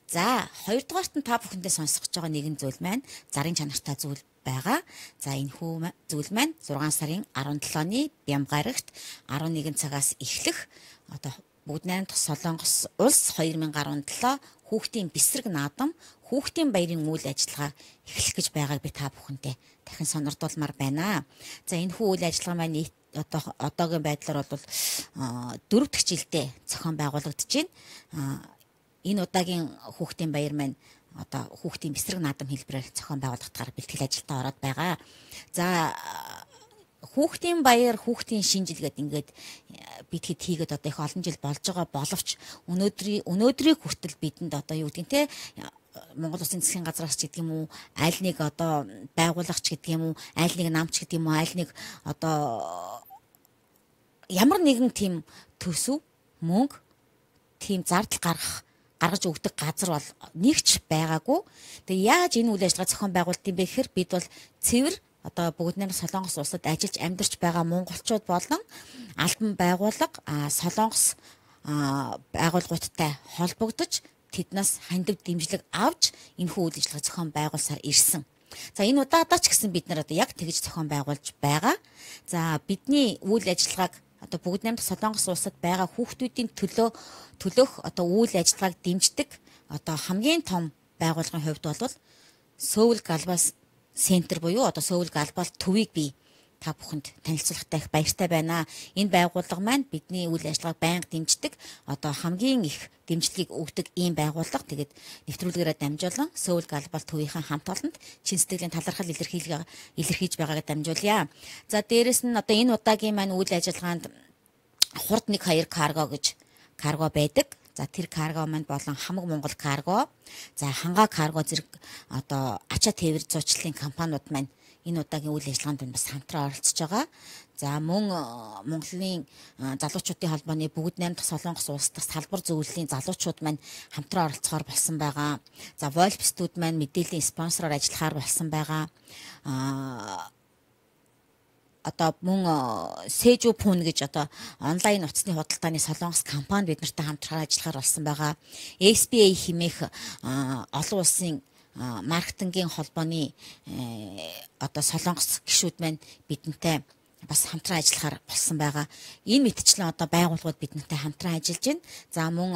За хоёрдугаарт нь та бүхэндээ сонсох гэж байгаа нэгэн зүйл маань зарын чанартай зүйл байгаа. За энэ хүү зүйл маань зургаан сарын арван долооны Бям гарагт арван нэгэн цагаас эхлэх одоо Бүгд найрамдах Солонгос улс хоёр мянга арван долоо хүүхдийн бэсрэг наадам хүүхдийн баярын үйл ажиллагаа эхлэх гэж байгааг би та бүхэндээ дахин сонирдуулмаар байна. За энэ хүү үйл ажиллагаа маань нийт одоо одоогийн байдлаар бол дөрөв дэх жилдээ зохион байгуулагдаж байна. Энэ удаагийн хүүхдийн баяр маань одоо хүүхдийн бэсрэг наадам хэлбэрээр зохион байгуулагдахаар бэлтгэл ажилдаа ороод байгаа. За хүүхдийн баяр, хүүхдийн шинжилгээд ингээд бид хэд хийгээд одоо их олон жил болж байгаа боловч өнөөдрийн өнөөдрийг хүртэл бидэнд одоо юу гэдэг нь те Монгол Улсын засгийн газраас ч гэдэг юм уу, аль нэг одоо байгуулагч гэдэг юм уу, аль нэг намч гэдэг юм уу, аль нэг одоо ямар нэгэн тийм төсөв, мөнгө, тийм зардал гаргах гаргаж өгдөг газар бол нэгч байгаагүй. Тэгээ яаж энэ үйл ажиллагаа зохион байгуулт юм бэ гэхээр бид бол цэвэр одоо бүгд найрамдах Солонгос улсад ажиллаж амьдарч байгаа монголчууд болон албан байгууллага Солонгос байгууллагуудтай холбогдож тэднээс хандив дэмжлэг авч энэхүү үйл ажиллагаа зохион байгуулсаар ирсэн. За энэ удаадаа ч гэсэн бид нар одоо яг тэгж зохион байгуулж байгаа. За бидний үйл ажиллагааг одоо бүгд найрамдах Солонгос улсад байгаа хүүхдүүдийн төлөө төлөх одоо үйл ажиллагааг дэмждэг одоо хамгийн том байгууллагын хувьд бол Seoul Global Center буюу одоо Seoul Global төвийг би та бүхэнд танилцуулахтай их баяртай байна. Энэ байгууллага маань бидний үйл ажиллагааг байнга дэмждэг одоо хамгийн их дэмжлэгийг өгдөг ийм байгууллага. Тэгээд нэвтрүүлгээрээ дамжуулан Seoul Global төвийн хамт олонд чин сэтгэлийн талархал илэрхийлгээ илэрхийлж байгаагаа дамжуулъя. За дээрэс нь одоо энэ удаагийн маань үйл ажиллагаанд хурд нэг хоёр карго гэж карго байдаг. За тэр карго маань болон хамаг Монгол карго, за хангаа карго зэрэг одоо ачаа тээвэр зуучлалын компаниуд маань энэ удаагийн үйл ажиллагаанд бас хамтран оролцож байгаа. За мөн Монголын залуучуудын холбооны бүгд найрамдах Солонгос улс дахь салбар зөвлөлийн залуучууд маань хамтран оролцохоор болсон байгаа. За Wolfstүүд маань мэдээллийн спонсороор ажиллахаар болсон байгаа. Аа одоо мөн Сэжүү Пун гэж одоо онлайн утасны худалдааны Солонгос компани бид нартай хамтран ажиллахаар болсон байгаа. эс би эй хэмээх олон улсын маркетингийн холбооны одоо Солонгос гишүүд маань бидэнтэй бас хамтран ажиллахаар болсон байгаа. Энэ мэтчлэн одоо байгууллагууд бидэнтэй хамтран ажиллаж байна. За мөн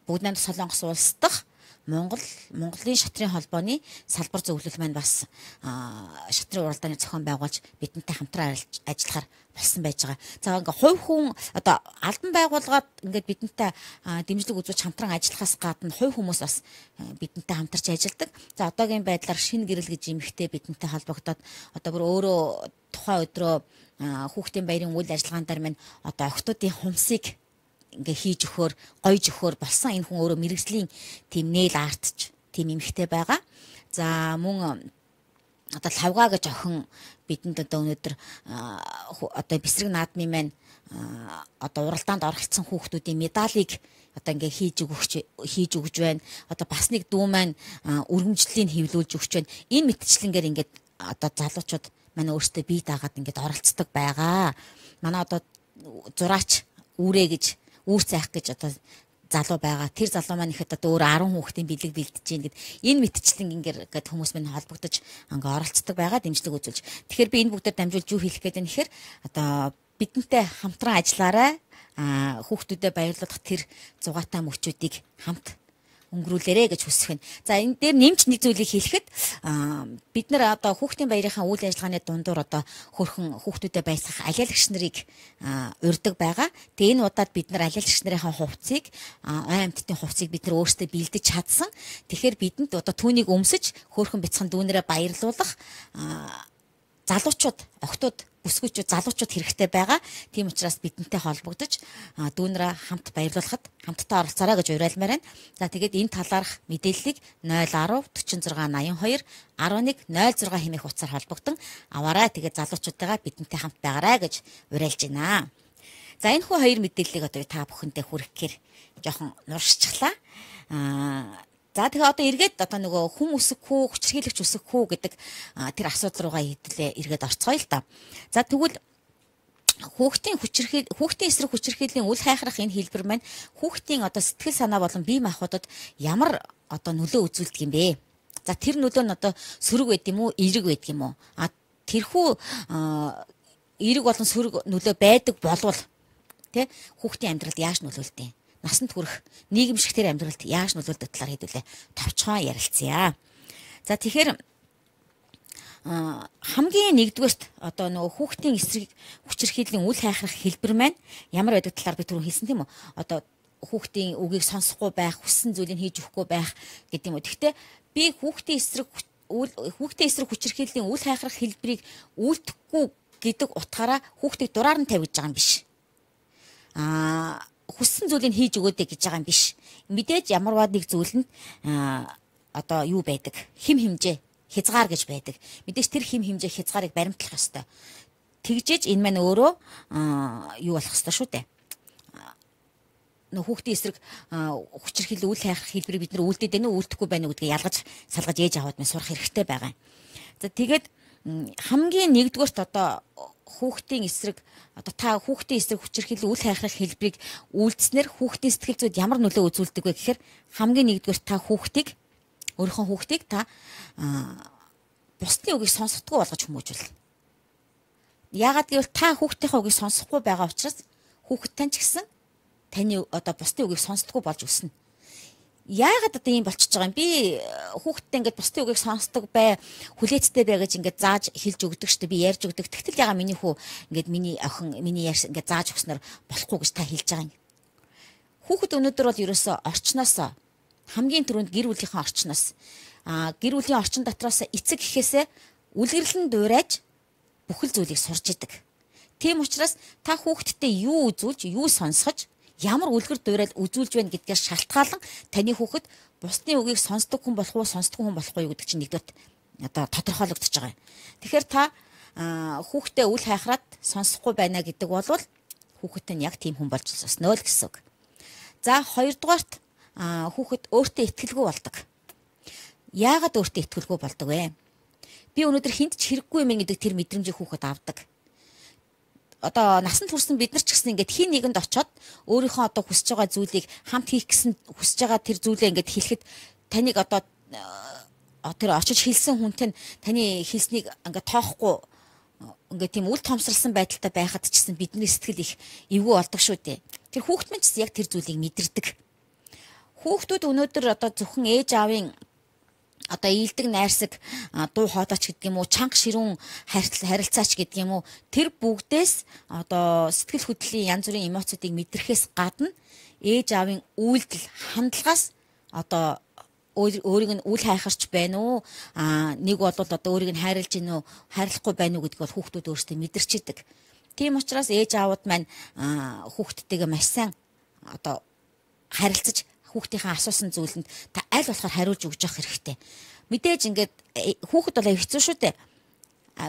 бүгд найрамдах Солонгос улс дахь Монгол Монголын шатрын холбооны салбар зөвлөл маань бас шатрын уралдааны зохион байгуулж бидэнтэй хамтран ажиллахаар болсон байж байгаа. За ингээ хувь хүн одоо албан байгууллагад ингээд бидэнтэй дэмжлэг үзүүлж хамтран ажиллахаас гадна хувь хүмүүс бас бидэнтэй хамтарч ажилладаг. За одоогийн байдлаар шинэ гэрэл гэж эмхтэй бидэнтэй холбогдоод одоо бүр өөрөө тухайн өдрөө хүүхдийн баярын үйл ажиллагаан дээр маань одоо охтуудын хумсыг ингээ хийж өгөхөөр, гойж өгөхөөр болсон. Энэ хүн өөрөө мэрэгжлийн тийм нээл артч тийм эмхтэй байгаа. За мөн одоо лавга гэж охин бидэнд одоо өнөөдөр одоо бэсрэг наадмын маань одоо уралдаанд оролцсон хүүхдүүдийн медалийг одоо ингээ хийж өгч хийж өгж байна. Одоо бас нэг дүү маань өргөмжлөлийг хэвлүүлж өгч байна. Энэ мэтчлэнгээр ингээд одоо залуучууд манай өөрсдөө бие даагаад ингээд оролцдог байгаа. Манай одоо зураач үүрээ гэж үүр цайх гэж одоо залуу байгаа. Тэр залуу маань ихэд одоо өөр арван хүүхдийн бэлэг бэлдэж гин гэд энэ мэтчлэн ингээд гээд хүмүүс минь холбогдож ингээ оролцдог байгаа дэмжлэг үзүүлж. Тэгэхээр би энэ бүгдээр дамжуулж юу хэлэх гээд байна гэхээр одоо бидэнтэй хамтран ажиллаарай. А хүүхдүүдэд баярлуулах тэр зугаатай мөчүүдийг хамт өнгөрүүлээрэ гэж хүсэх байна. За энэ дээр нэмж нэг зүйлийг хэлэхэд бид нар одоо хүүхдийн баярынхаа үйл ажиллагааны дундуур одоо хөрхөн хүүхдүүдэд баясгах алиалагч нарыг урьдаг байгаа. Тэгээ энэ удаад бид нар алиалагч нарынхаа хувцсыг ой амьтдын хувцсыг бид нар өөрсдөө бэлдэж чадсан. Тэгэхээр бидэнд одоо түүнийг өмсөж хөрхөн бяцхан дүүнэрээ баярлуулах залуучууд, охтууд, бүсгүйчүүд, залуучууд хэрэгтэй байгаа. Тийм учраас бидэнтэй холбогдож дүүнрээ хамт баярлуулахад хамтдаа оролцоорой гэж уриалмаар байна. За тэгээд энэ талаарх мэдээллийг нуль один дөрвөн зураг найман хоёр один нэг нуль зураг хэмээх утсаар холбогдсон аваарай. Тэгээд залуучуудаа бидэнтэй хамт байгаарай гэж уриалж байна. За энэ хүү хоёр мэдээллийг одоо та бүхэндээ хүргэхээр жоохон нуршчихлаа. Аа За тэгэхээр одоо эргээд одоо нөгөө хүм үсэхгүй, хүчирхийлэгч үсэхгүй гэдэг тэр асуудал руугаа хэдлээ эргээд орцгоё л та. За тэгвэл хүүхдийн хүчирхийл хүүхдийн эсрэг хүчирхийллийн үл хайхрах энэ хэлбэр маань хүүхдийн одоо сэтгэл санаа болон бие махбодод ямар одоо нөлөө үзүүлдэг юм бэ? За тэр нөлөө нь одоо сөрөг байд юм уу, эерэг байд юм уу? А тэрхүү эерэг болон сөрөг нөлөө байдаг болвол тэ хүүхдийн амьдралд яаж нөлөөлдөг? Насанд хүрэх нийгэмшигтэр амьдралд яаж нөлөөлдөг талаар хэдүүлээ товчхон ярилцъя. За тэгэхээр хамгийн нэгдүгээрт одоо нөгөө хүүхдийн эсрэг хүчирхийллийн үл хайхрах хэлбэр маань ямар байдаг талаар би түрүү хэлсэн тийм үү? Одоо хүүхдийн үгийг сонсохгүй байх, хүссэн зүйлийг хийж өгөхгүй байх гэдэг юм уу. Гэхдээ би хүүхдийн эсрэг хүүхдийн эсрэг хүчирхийллийн үл хайхрах хэлбэрийг үйлдэхгүй гэдэг утгаараа хүүхдийг дураар нь тавьж байгаа юм биш. Аа хүссэн зүйлийг хийж өгөөдэй гэж байгаа юм биш. Мэдээж ямарваа нэг зүйлэнд одоо юу байдаг? Хим хэмжээ, хязгаар гэж байдаг. Мэдээж тэр хим хэмжээ хязгаарыг баримтлах ёстой. Тэгжээж энэ маань өөрөө юу болох ёстой шүү дээ. Нөх хүүхдийн эсрэг хүчирхийлэл үйл хайхрах хэлбэрийг бид нар үлдээд байна уу, үлдэхгүй байна уу гэдгийг ялгаж салгаж ээж аваад минь сурах хэрэгтэй байгаа. За тэгээд хамгийн нэгдүгээрт одоо хүүхдийн эсрэг одоо та хүүхдийн эсрэг хүчирхийлэл үйл хайхрах хэлбэрийг үйлдснээр хүүхдийн сэтгэл зүйд ямар нөлөө үзүүлдэг вэ гэхээр хамгийн нэгдүгээр та хүүхдийг өөрийнхөө хүүхдийг та бусдын үгийг сонсохдгүй болгож хүмүүжүүл. Яагаад гэвэл та хүүхдийнхээ үгийг сонсохгүй байгаа учраас хүүхэд тань ч гэсэн таны одоо бусдын үгийг сонсдоггүй болж өснө. Яагаад одоо ийм болчихж байгаа юм би хүүхдтэй ингээд бусдын үгийг сонсдог бай хүлээцтэй бай гэж ингээд зааж хэлж өгдөг штэ би ярьж өгдөг. Тэгтэл ягаа миний хүү ингээд миний охин миний ярьс ингээд зааж өгснөр болохгүй гэж та хэлж байгаа юм. Хүүхэд өнөөдөр бол ерөөсөө орчноос хамгийн түрүүнд гэр бүлийнхээ орчноос а гэр бүлийн орчин дотроос эцэг гэхээсээ үлгэрлэн дуурайж бүхэл зүйлийг сурж идэг. Тийм учраас та хүүхдтэй юу үзүүлж юу сонсгож ямар үлгэр дуурайд үзүүлж байна гэдгээс шалтгаалan таны хүүхэд бусдын үгийг сонсдог хүн болох уу, сонсдгүй хүн болох уу гэдэг чинь нэгдүгээр одоо тодорхойлогдож байгаа юм. Тэгэхээр та хүүхдээ үл хайхраад сонсохгүй байна гэдэг бол хүүхэд нь яг тийм хүн болж сосноо л гэсэн үг. За хоёрдугаарт хүүхэд өөртөө итгэлгүй болдог. Яагаад өөртөө итгэлгүй болдог вэ? Би өнөөдөр хинт ч хэрэггүй юм гэдэг тэр мэдрэмжийг хүүхэд авдаг. Одоо насанд хүрсэн бид нар ч гэсэн ингээд хин нэгэнд очоод өөрийнхөө одоо хүсэж байгаа зүйлийг хамт хийх гэсэн хүсэж байгаа тэр зүйлээ ингээд хэлэхэд таныг одоо тэр очиж хэлсэн хүнтэй таны хэлснийг ингээд тоохгүй ингээд тийм үл томсралсан байдалтай байхад ч гэсэн бидний сэтгэл их эвгүй болдог шүү дээ. Тэр хүүхэд минь ч яг тэр зүйлийг мэдэрдэг. Хүүхдүүд өнөөдөр одоо зөвхөн ээж аавын одоо ийдэг найрсаг дуу хоолойч гэдэг юм уу чанга ширүүн харилцаач гэдэг юм уу тэр бүгдээс одоо сэтгэл хөдлөлийн янз бүрийн эмоцуудыг мэдрэхээс гадна ээж аавын үйлдэл хандлагаас одоо өөрийг нь үл хайхарч байна уу а нэг бол одоо өөрийг нь хайрлж гин үү хайрлахгүй байна уу гэдгийг бол хүүхдүүд өөрсдөө мэдэрчээдэг. Тийм учраас ээж аавууд маань хүүхдтэйгээ маш сайн одоо харилцаж хүүхдийнхээ асуусан зүйлэнд та аль болохоор хариулж өгч явах хэрэгтэй. Мэдээж ингээд хүүхэд бол хэцүү шүү дээ.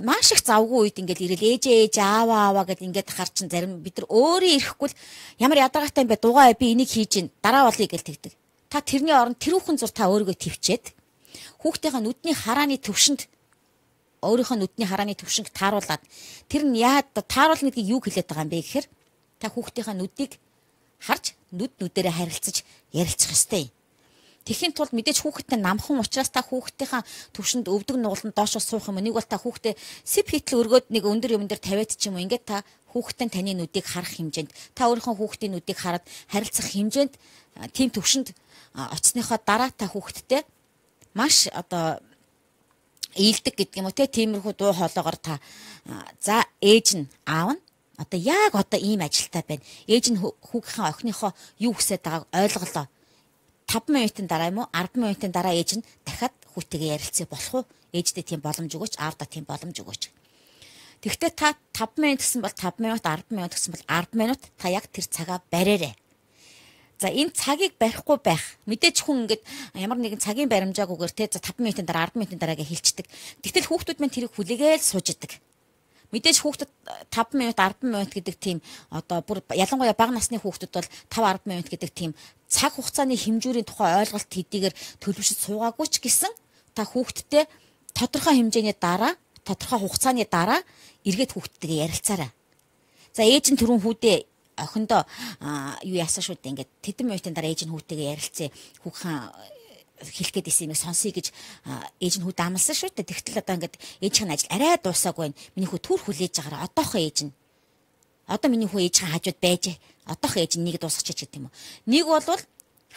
Маш их завгүй үед ингээд ирэл ээжээ ээж ааваа ааваа гэд ингээд хар чин зарим бид нар өөрөө ирэхгүй л ямар ядаргаатай юм бэ дугаа би энийг хийж гин дараа болъё гэж тэгдэг. Та тэрний оронд тэрүүхэн зур та өөрийгөө твчээд хүүхдийнхээ нүдний харааны төвшөнд өөрийнхөө нүдний харааны төвшинг тааруулаад тэр нь яа тааруулна гэдгийг юу хэлээд байгаа юм бэ гэхээр та хүүхдийнхээ нүдийг харж нүд нүдэрээ харилцаж ярилцах ёстой. Тэхийн тулд мэдээж хүүхэдтэй намхан учраас та хүүхдийнхаа төвшөнд өвдөг нугаланд доош суух юм. Нэг бол та хүүхдээ сэп хитл өргөөд нэг өндөр юм дээр тавиад ч юм уу. Ингээд та хүүхдтэй таны нүдийг харах хэмжээнд та өөрийнхөө хүүхдийн нүдийг хараад харилцах хэмжээнд тийм төвшөнд очсныхоо дараа та хүүхдтэй маш одоо ийдэг гэдэг юм уу те тиймэрхүү дуу хоолоогоор та за ээж нь аав нь одоо яг одоо ийм ажилтаа байна. Ээж нь хүүгийнхээ охиныхоо юу хүсэж байгааг ойлголоо. таван минутын дараа юм уу арван минутын дараа ээж нь дахиад хүүтэйгээ ярилцъя болох уу? Ээждээ тийм боломж өгөөч, аавдаа тийм боломж өгөөч. Тэгвэл та таван минут гэсэн бол таван минут, арван минут гэсэн бол арван минут та яг тэр цагаа бариарай. За энэ цагийг барихгүй байх. Мэдээж хүн ингээд ямар нэгэн цагийн баримжаагүйгээр те за таван минутын дараа арван минутын дараагээ хэлцдэг. Тэгтэл хүүхдүүд маань тэрийг хүлээгээл сууж идэг. Мэдээж хүүхдэд таван минут, арван минут гэдэг тийм одоо бүр ялангуяа бага насны хүүхдүүд бол таван арван минут гэдэг тийм цаг хугацааны хэмжүүрийн тухай ойлголт хэдийгээр төлөвшөж суугаагүй ч гэсэн та хүүхдтэй тодорхой хэмжээний дараа, тодорхой хугацааны дараа эргээд хүүхдтэйгээ ярилцаарай. За ээж нь түрүүн хүүдээ охиндоо юу яасан шүү дээ ингээд тэдэн минутын дараа ээж нь хүүтэйгээ ярилцъя. Хүүхэн хэлэх гээд исэн юм сонсъё гэж ээж нь хүүд амласан шүү дээ. Тэгтэл одоо ингээд ээжийн ажил арай дуусаагүй байна. Миний хүү түр хүлээж байгаараа одоохон ээж нь. Одоо миний хүү ээжийн хажууд байж одоохон ээж нь нэг дуусгачих гэдэг юм уу. Нэг бол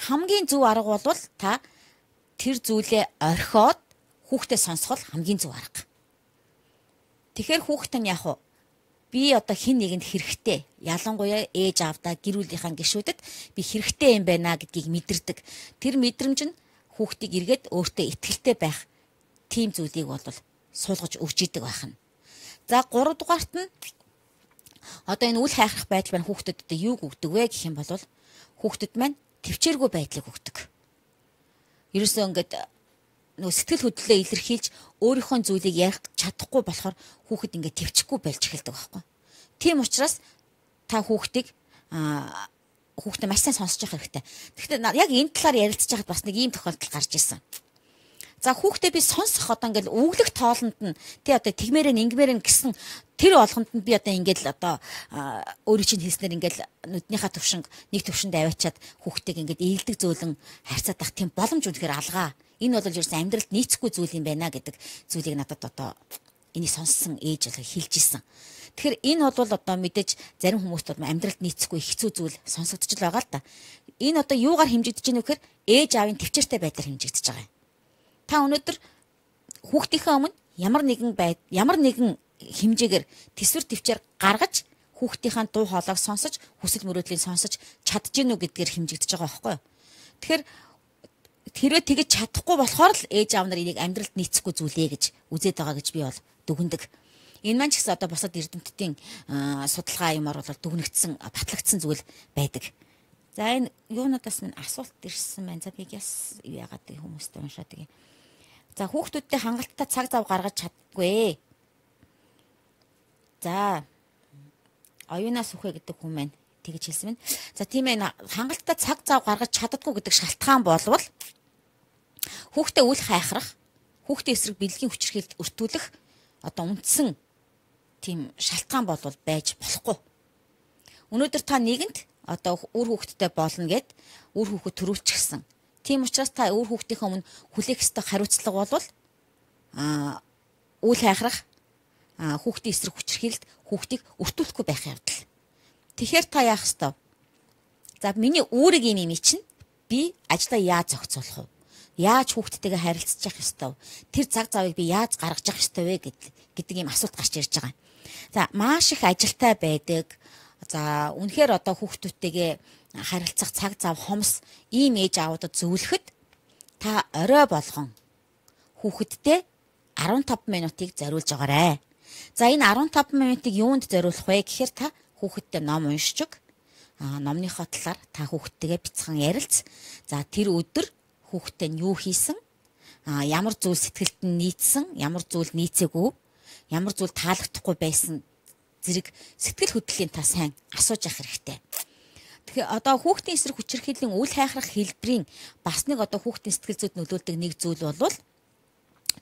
хамгийн зөв арга бол та тэр зүйлээ орхиод хүүхдээ сонсгол хамгийн зөв арга. Тэгэхээр хүүхэд нь яг би одоо хин нэгэнд хэрэгтэй. Ялангуяа ээж аавдаа гэр бүлийнхаа гишүүдэд би хэрэгтэй юм байна гэдгийг мэдэрдэг. Тэр мэдрэмж нь хүүхдийг эргээд өөртөө итгэлтэй байх тийм зүйлийг бол суулгаж өгч идэг байх нь. За гурав дугаарт нь одоо энэ үл хайхрах байдал маань хүүхдэд юу өгдөг вэ гэх юм бол хүүхдэд маань төвчээргүй байдлыг өгдөг. Ерөөсөө ингээд нөө сэтгэл хөдлөлөө илэрхийлж өөрийнхөө зүйлийг ярих чадахгүй болохоор хүүхэд ингээд төвчгүй болж эхэлдэг байхгүй. Тийм учраас та хүүхдийг аа хүүхдээ маш сайн сонсож явах хэрэгтэй. Тэгэхдээ яг энэ талаар ярилцж байхад бас нэг ийм тохиолдол гарч ирсэн. За хүүхдээ би сонсох одоо ингээл өвлөх тоолонд нь тий одоо тэгмээрэн ингэмээрэн гэсэн тэр болгонд нь би одоо ингээл одоо өөрийн чинь хэлснээр ингээл нүднийхээ төвшинг нэг төвшөнд аваачаад хүүхдтэйг ингээд ээлдэг зөөлөн харьцаад байх тийм боломж үнэхээр алгаа. Энэ бол ерөөс амьдралд нийцэхгүй зүйл юм байна гэдэг зүйлийг надад одоо энийг сонссон ээж бол хэлж исэн. Тэгэхээр энэ бол одоо мэдээж зарим хүмүүст бол амьдралд нийцэхгүй хэцүү зүйл сонсогдож л байгаа л да. Энэ одоо юугаар хэмжигдэж байна вэ гэхээр ээж аавын төвчээртэй байдлаар хэмжигдэж байгаа юм. Та өнөөдөр хүүхдийнхээ өмнө ямар нэгэн байд ямар нэгэн хэмжээгээр төсвөр төвчээр гаргаж хүүхдийнхээ дуу хоолойг сонсож хүсэл мөрөөдлийг сонсож чадчихэв үү гэдгээр хэмжигдэж байгаа байхгүй юу. Тэгэхээр хэрвээ тэгэж чадахгүй болохоор л ээж аав нар энийг амьдралд нийцэхгүй зүйлээ гэж үзээд байгаа гэж би бол дүгнэдэг. Энэ маань ч гэсэн одоо босод эрдэмтдийн судалгаа юмар бол дүгнэгдсэн батлагдсан зүйл байдаг. За энэ юунуудаас минь асуулт ирсэн байна. За би яс яагаад хүмүүст уншаад байгаа. За хүүхдүүдтэй хангалттай цаг зав гаргаж чаддаггүй. За оюунаас үхэ гэдэг хүн маань тэгж хэлсэн байна. За тийм ээ хангалттай цаг зав гаргаж чаддаггүй гэдэг шалтгаан болвол хүүхдээ үл хайхрах, хүүхдийн эсрэг бэлгийн хүчирхийлэлд өртүүлэх одоо үндсэн тийм шалтгаан болвол байж болохгүй. Өнөөдөр та нэгэнт одоо үр хүүхдтэй болно гэд үр хүүхэд төрүүлчихсэн. Тийм учраас та үр хүүхдийнхээ өмнө хүлээх ёстой хариуцлага бол аа үл хайхрах, аа хүүхдийн эсрэг хүчирхийлэлд хүүхдийг өртүүлэхгүй байх явдал. Тэгэхээр та яах ёстой? За миний үүрэг юм юм чинь би ажлаа яаж зохицуулах вэ? Яаж хүүхдтэйгээ харилцаж явах ёстой вэ? Тэр цаг завыг би яаж гаргаж явах ёстой вэ гэдэг ийм асуулт гарч ирж байгаа юм. За маш их ажилтай байдаг. За үнэхээр одоо хүүхдүүдтэйгээ харилцах цаг зав хомс ийм ээж аавуудад зөвлөхөд та орой болгон хүүхэдтэй арван таван минутыг зориулж байгаарай. За энэ арван таван минутыг юунд зориулах вэ гэхээр та хүүхэдтэй ном уншиж өг. А номныхоо талаар та хүүхдтэйгээ бяцхан ярилц. За тэр өдөр хүүхдтэй нь юу хийсэн? А ямар зүйл сэтгэлд нь нийцсэн, ямар зүйл нийцээгүй, ямар зүйл таалагдахгүй байсан зэрэг сэтгэл хөдлөлийн та сайн асууж явах хэрэгтэй. Тэгэхээр одоо хүүхдийн эсрэг хүчирхийллийн үл хайхрах хэлбэрийн бас нэг одоо хүүхдийн сэтгэл зүйд нөлөөлдөг нэг зүйл бол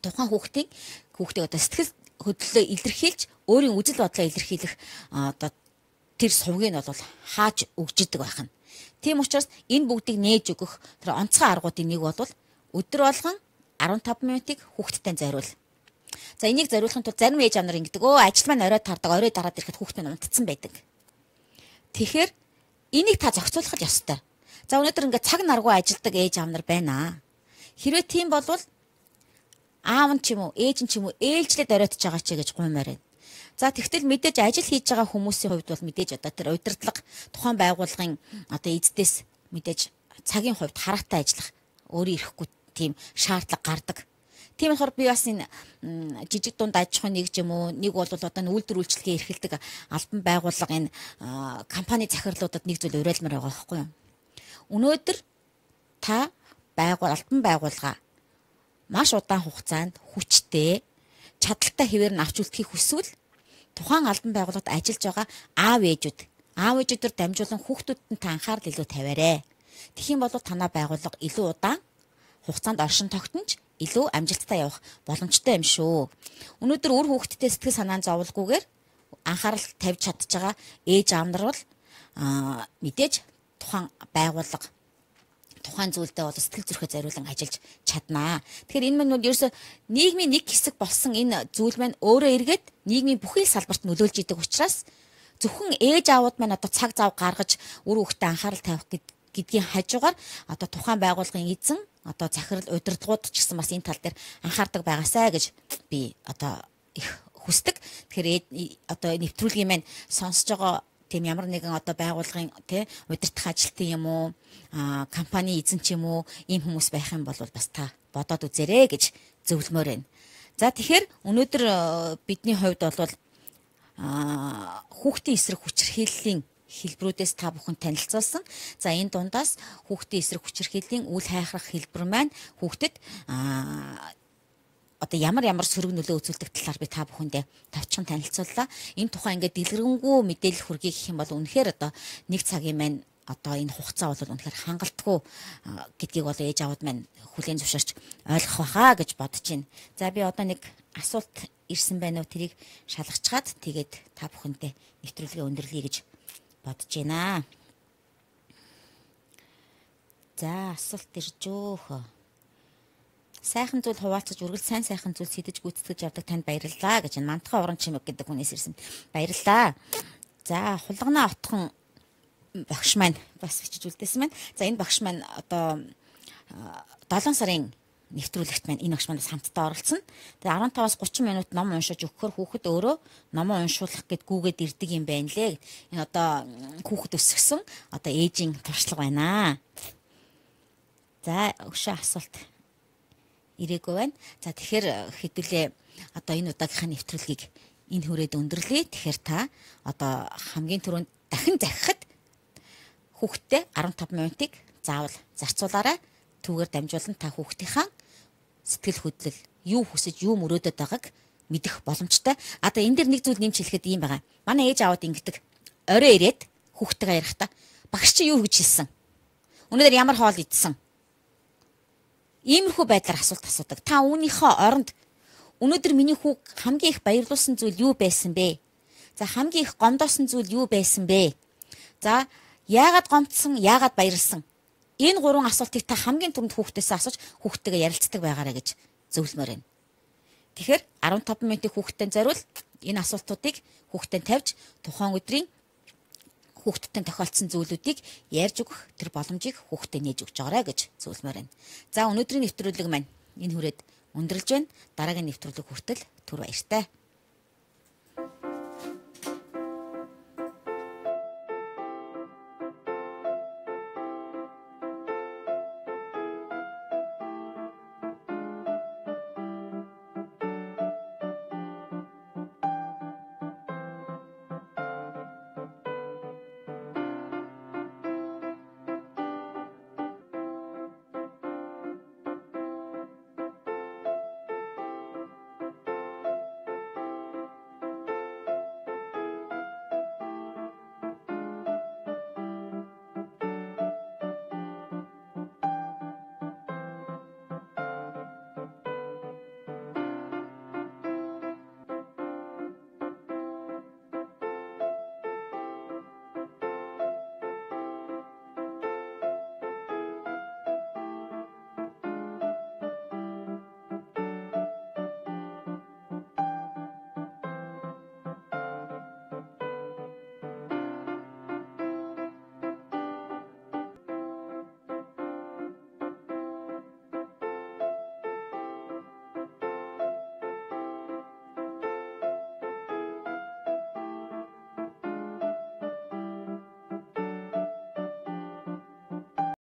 тухайн хүүхдийн хүүхдийг одоо сэтгэл хөдлөлөө илэрхийлж өөрийн үзэл бодлоо илэрхийлэх одоо тэр сувгийг нь бол хааж өгжидэг байх нь. Тийм учраас энэ бүгдийг нээж өгөх тэр онцгой аргуудын нэг бол өдөр болгон арван таван минутыг хүүхдтэй зориул. За энийг зориулахын тулд зарим ээж аав нар ингэдэг. Өө ажил маань орой тардаг, орой дараад ирэхэд хүүхдээ унтцсан байдаг. Тэгэхээр энийг та зохицуулах ёстой. За өнөөдөр ингээд цаг наргүй ажилдаг ээж аав нар байна. Хэрвээ тийм болвол аав нь ч юм уу, ээж нь ч юм уу ээлжлээд оройтж байгаа ч гэж гуймаар байна. За тэгтэл мэдээж ажил хийж байгаа хүмүүсийн хувьд бол мэдээж одоо тэр удирдлага тухайн байгууллагын одоо эздээс мэдээж цагийн хувьд хараатай ажиллах өөрөө ирэхгүй тийм шаардлага гардаг. Тийм болохоор би бас энэ жижиг дунд аж ахуйн нэг ч юм уу нэг бол одоо үйлдвэр үйлчлэгээ эрхэлдэг албан байгууллага энэ компани захирлуудад нэг зүйл уриалмаар байгаа байхгүй юу? Өнөөдөр та байгуул албан байгууллага маш удаан хугацаанд хүчтэй чадaltaй хэвээр нь авч үлдэхийг хүсвэл тухайн албан байгууллагад ажиллаж байгаа аав ээжүүд аав ээжүүдээр дамжуулан хүүхдүүдэд та анхаарал илүү тавиарэ. Тэгэх юм бол танай байгууллага илүү удаан хугацаанд оршин тогтнож илүү амжилттай явах боломжтой юм шүү. Өнөөдөр үр хүүхдтэй сэтгэл санаан зовлгүйгээр анхаарал тавьж чадж байгаа ээж аав нар бол мэдээж тухайн байгууллага тухайн зүйлдээ бол сэтгэл зүрхээ зориулан ажиллаж чаднаа. Тэгэхээр энэ мань бол ерөөсө нийгмийн нэг хэсэг болсон энэ зүйл маань өөрөө эргээд нийгмийн бүхий л салбарт нөлөөлж идэг учраас зөвхөн ээж аавууд маань одоо цаг зав гаргаж үр хүүхдэд анхаарал тавих гэдгийн хажуугаар одоо тухайн байгууллагын эзэн одоо захирал удирдлагууд ч гэсэн бас энэ тал дээр анхаардаг байгаасай гэж би одоо их хүсдэг. Тэгэхээр одоо нэвтрүүлгийн маань сонсож байгаа тийм ямар нэгэн одоо байгууллагын тий удирдах ажилтны юм уу компани эзэн ч юм уу ийм хүмүүс байх юм бол бас та бодоод үзээрэй гэж зөвлөмөр байна. За тэгэхээр өнөөдөр бидний хувьд бол хүүхдийн эсрэг хүчирхийллийн хэлбэрүүдээс та бүхэн танилцуулсан. За энэ дундаас хүүхдийн эсрэг хүчирхийллийн үл хайхрах хэлбэр маань хүүхдэд одоо ямар ямар сөрөг нөлөө үзүүлдэг талаар би та бүхэндээ товчхон танилцууллаа. Энэ тухай ингээд дэлгэрэнгүй мэдээлэл хүргэе гэх юм бол үнэхээр одоо нэг цагийн маань одоо энэ хугацаа бол үнэхээр хангалтгүй гэдгийг бол ээж аавд маань хүлээн зөвшөөрч ойлгох байхаа гэж бодож байна. За би одоо нэг асуулт ирсэн байна уу тэрийг шалгачгаад тэгээд та бүхэндээ нэвтрүүлгээ өндөрлөе гэж бодож байна. За асуулт ирж өөхөө. Сайхан зүйл хуваалцаж үргэлж сайн сайхан зүйл сэтэж гүйцэтгэж явдаг танд баярлалаа гэж мантахай уран чимэг гэдэг хүнээс ирсэн. Баярлалаа. За хулгана отхон багш маань бас бичиж үлдээсэн байна. За энэ багш маань одоо долоон сарын нэвтрүүлэгт маань энэ багш манаас хамтдаа оролцсон. Тэгээ арван таваас гучин минут ном уншиж өгөхөөр хүүхэд өөрөө номоо уншуулах гэд гүүгээд ирдэг юм байна лээ. Энэ одоо хүүхэд өсгсөн одоо ээжийн туршлага байна. За өшөө асуулт ирээгүй байна. За тэгэхээр хэдүүлээ одоо энэ удаагийнхаа нэвтрүүлгийг энэ хүрээд өндөрлөе. Тэгэхээр та одоо хамгийн түрүүнд дахин захихад хүүхдтэй арван таван минутыг заавал зарцуулаарай. Түүгээр дамжуулан та хүүхдийнхаа сэтгэл хөдлөл юу хүсэж юу мөрөөдөд байгааг мэдэх боломжтой. Одоо энэ дэр нэг зүйл нэмж хэлэхэд ийм байгаа. Манай ээж аавд ингэдэг. Орой ирээд хүүхдтэйгээ ярихдаа багш чи юу гэж хэлсэн? Өнөөдөр ямар хоол идсэн? Иймэрхүү байдлаар асуулт асуудаг. Та үүнийхээ оронд өнөөдөр миний хүүг хамгийн их баярлуулсан зүйл юу байсан бэ? За хамгийн их гомдоосон зүйл юу байсан бэ? За яагаад гомдсон, яагаад баярлсан? Энэ гурван асуултыг та хамгийн түрүүнд хүүхдээсээ асууж хүүхдтэйгээ ярилцдаг байгаарай гэж зөвлөмөр байна. Тэгэхээр арван таван минутыг хүүхдтэй зориул энэ асуултуудыг хүүхдэд тавьж тухайн өдрийн хүүхдтэй тохиолдсон зүйлүүдийг ярьж өгөх тэр боломжийг хүүхдэд нээж өгч байгаарай гэж зөвлөмөр байна. За өнөөдрийн нэвтрүүлэг маань энэ хүрээд өндөрлж байна. Дараагийн нэвтрүүлэг хүртэл түр баяртай.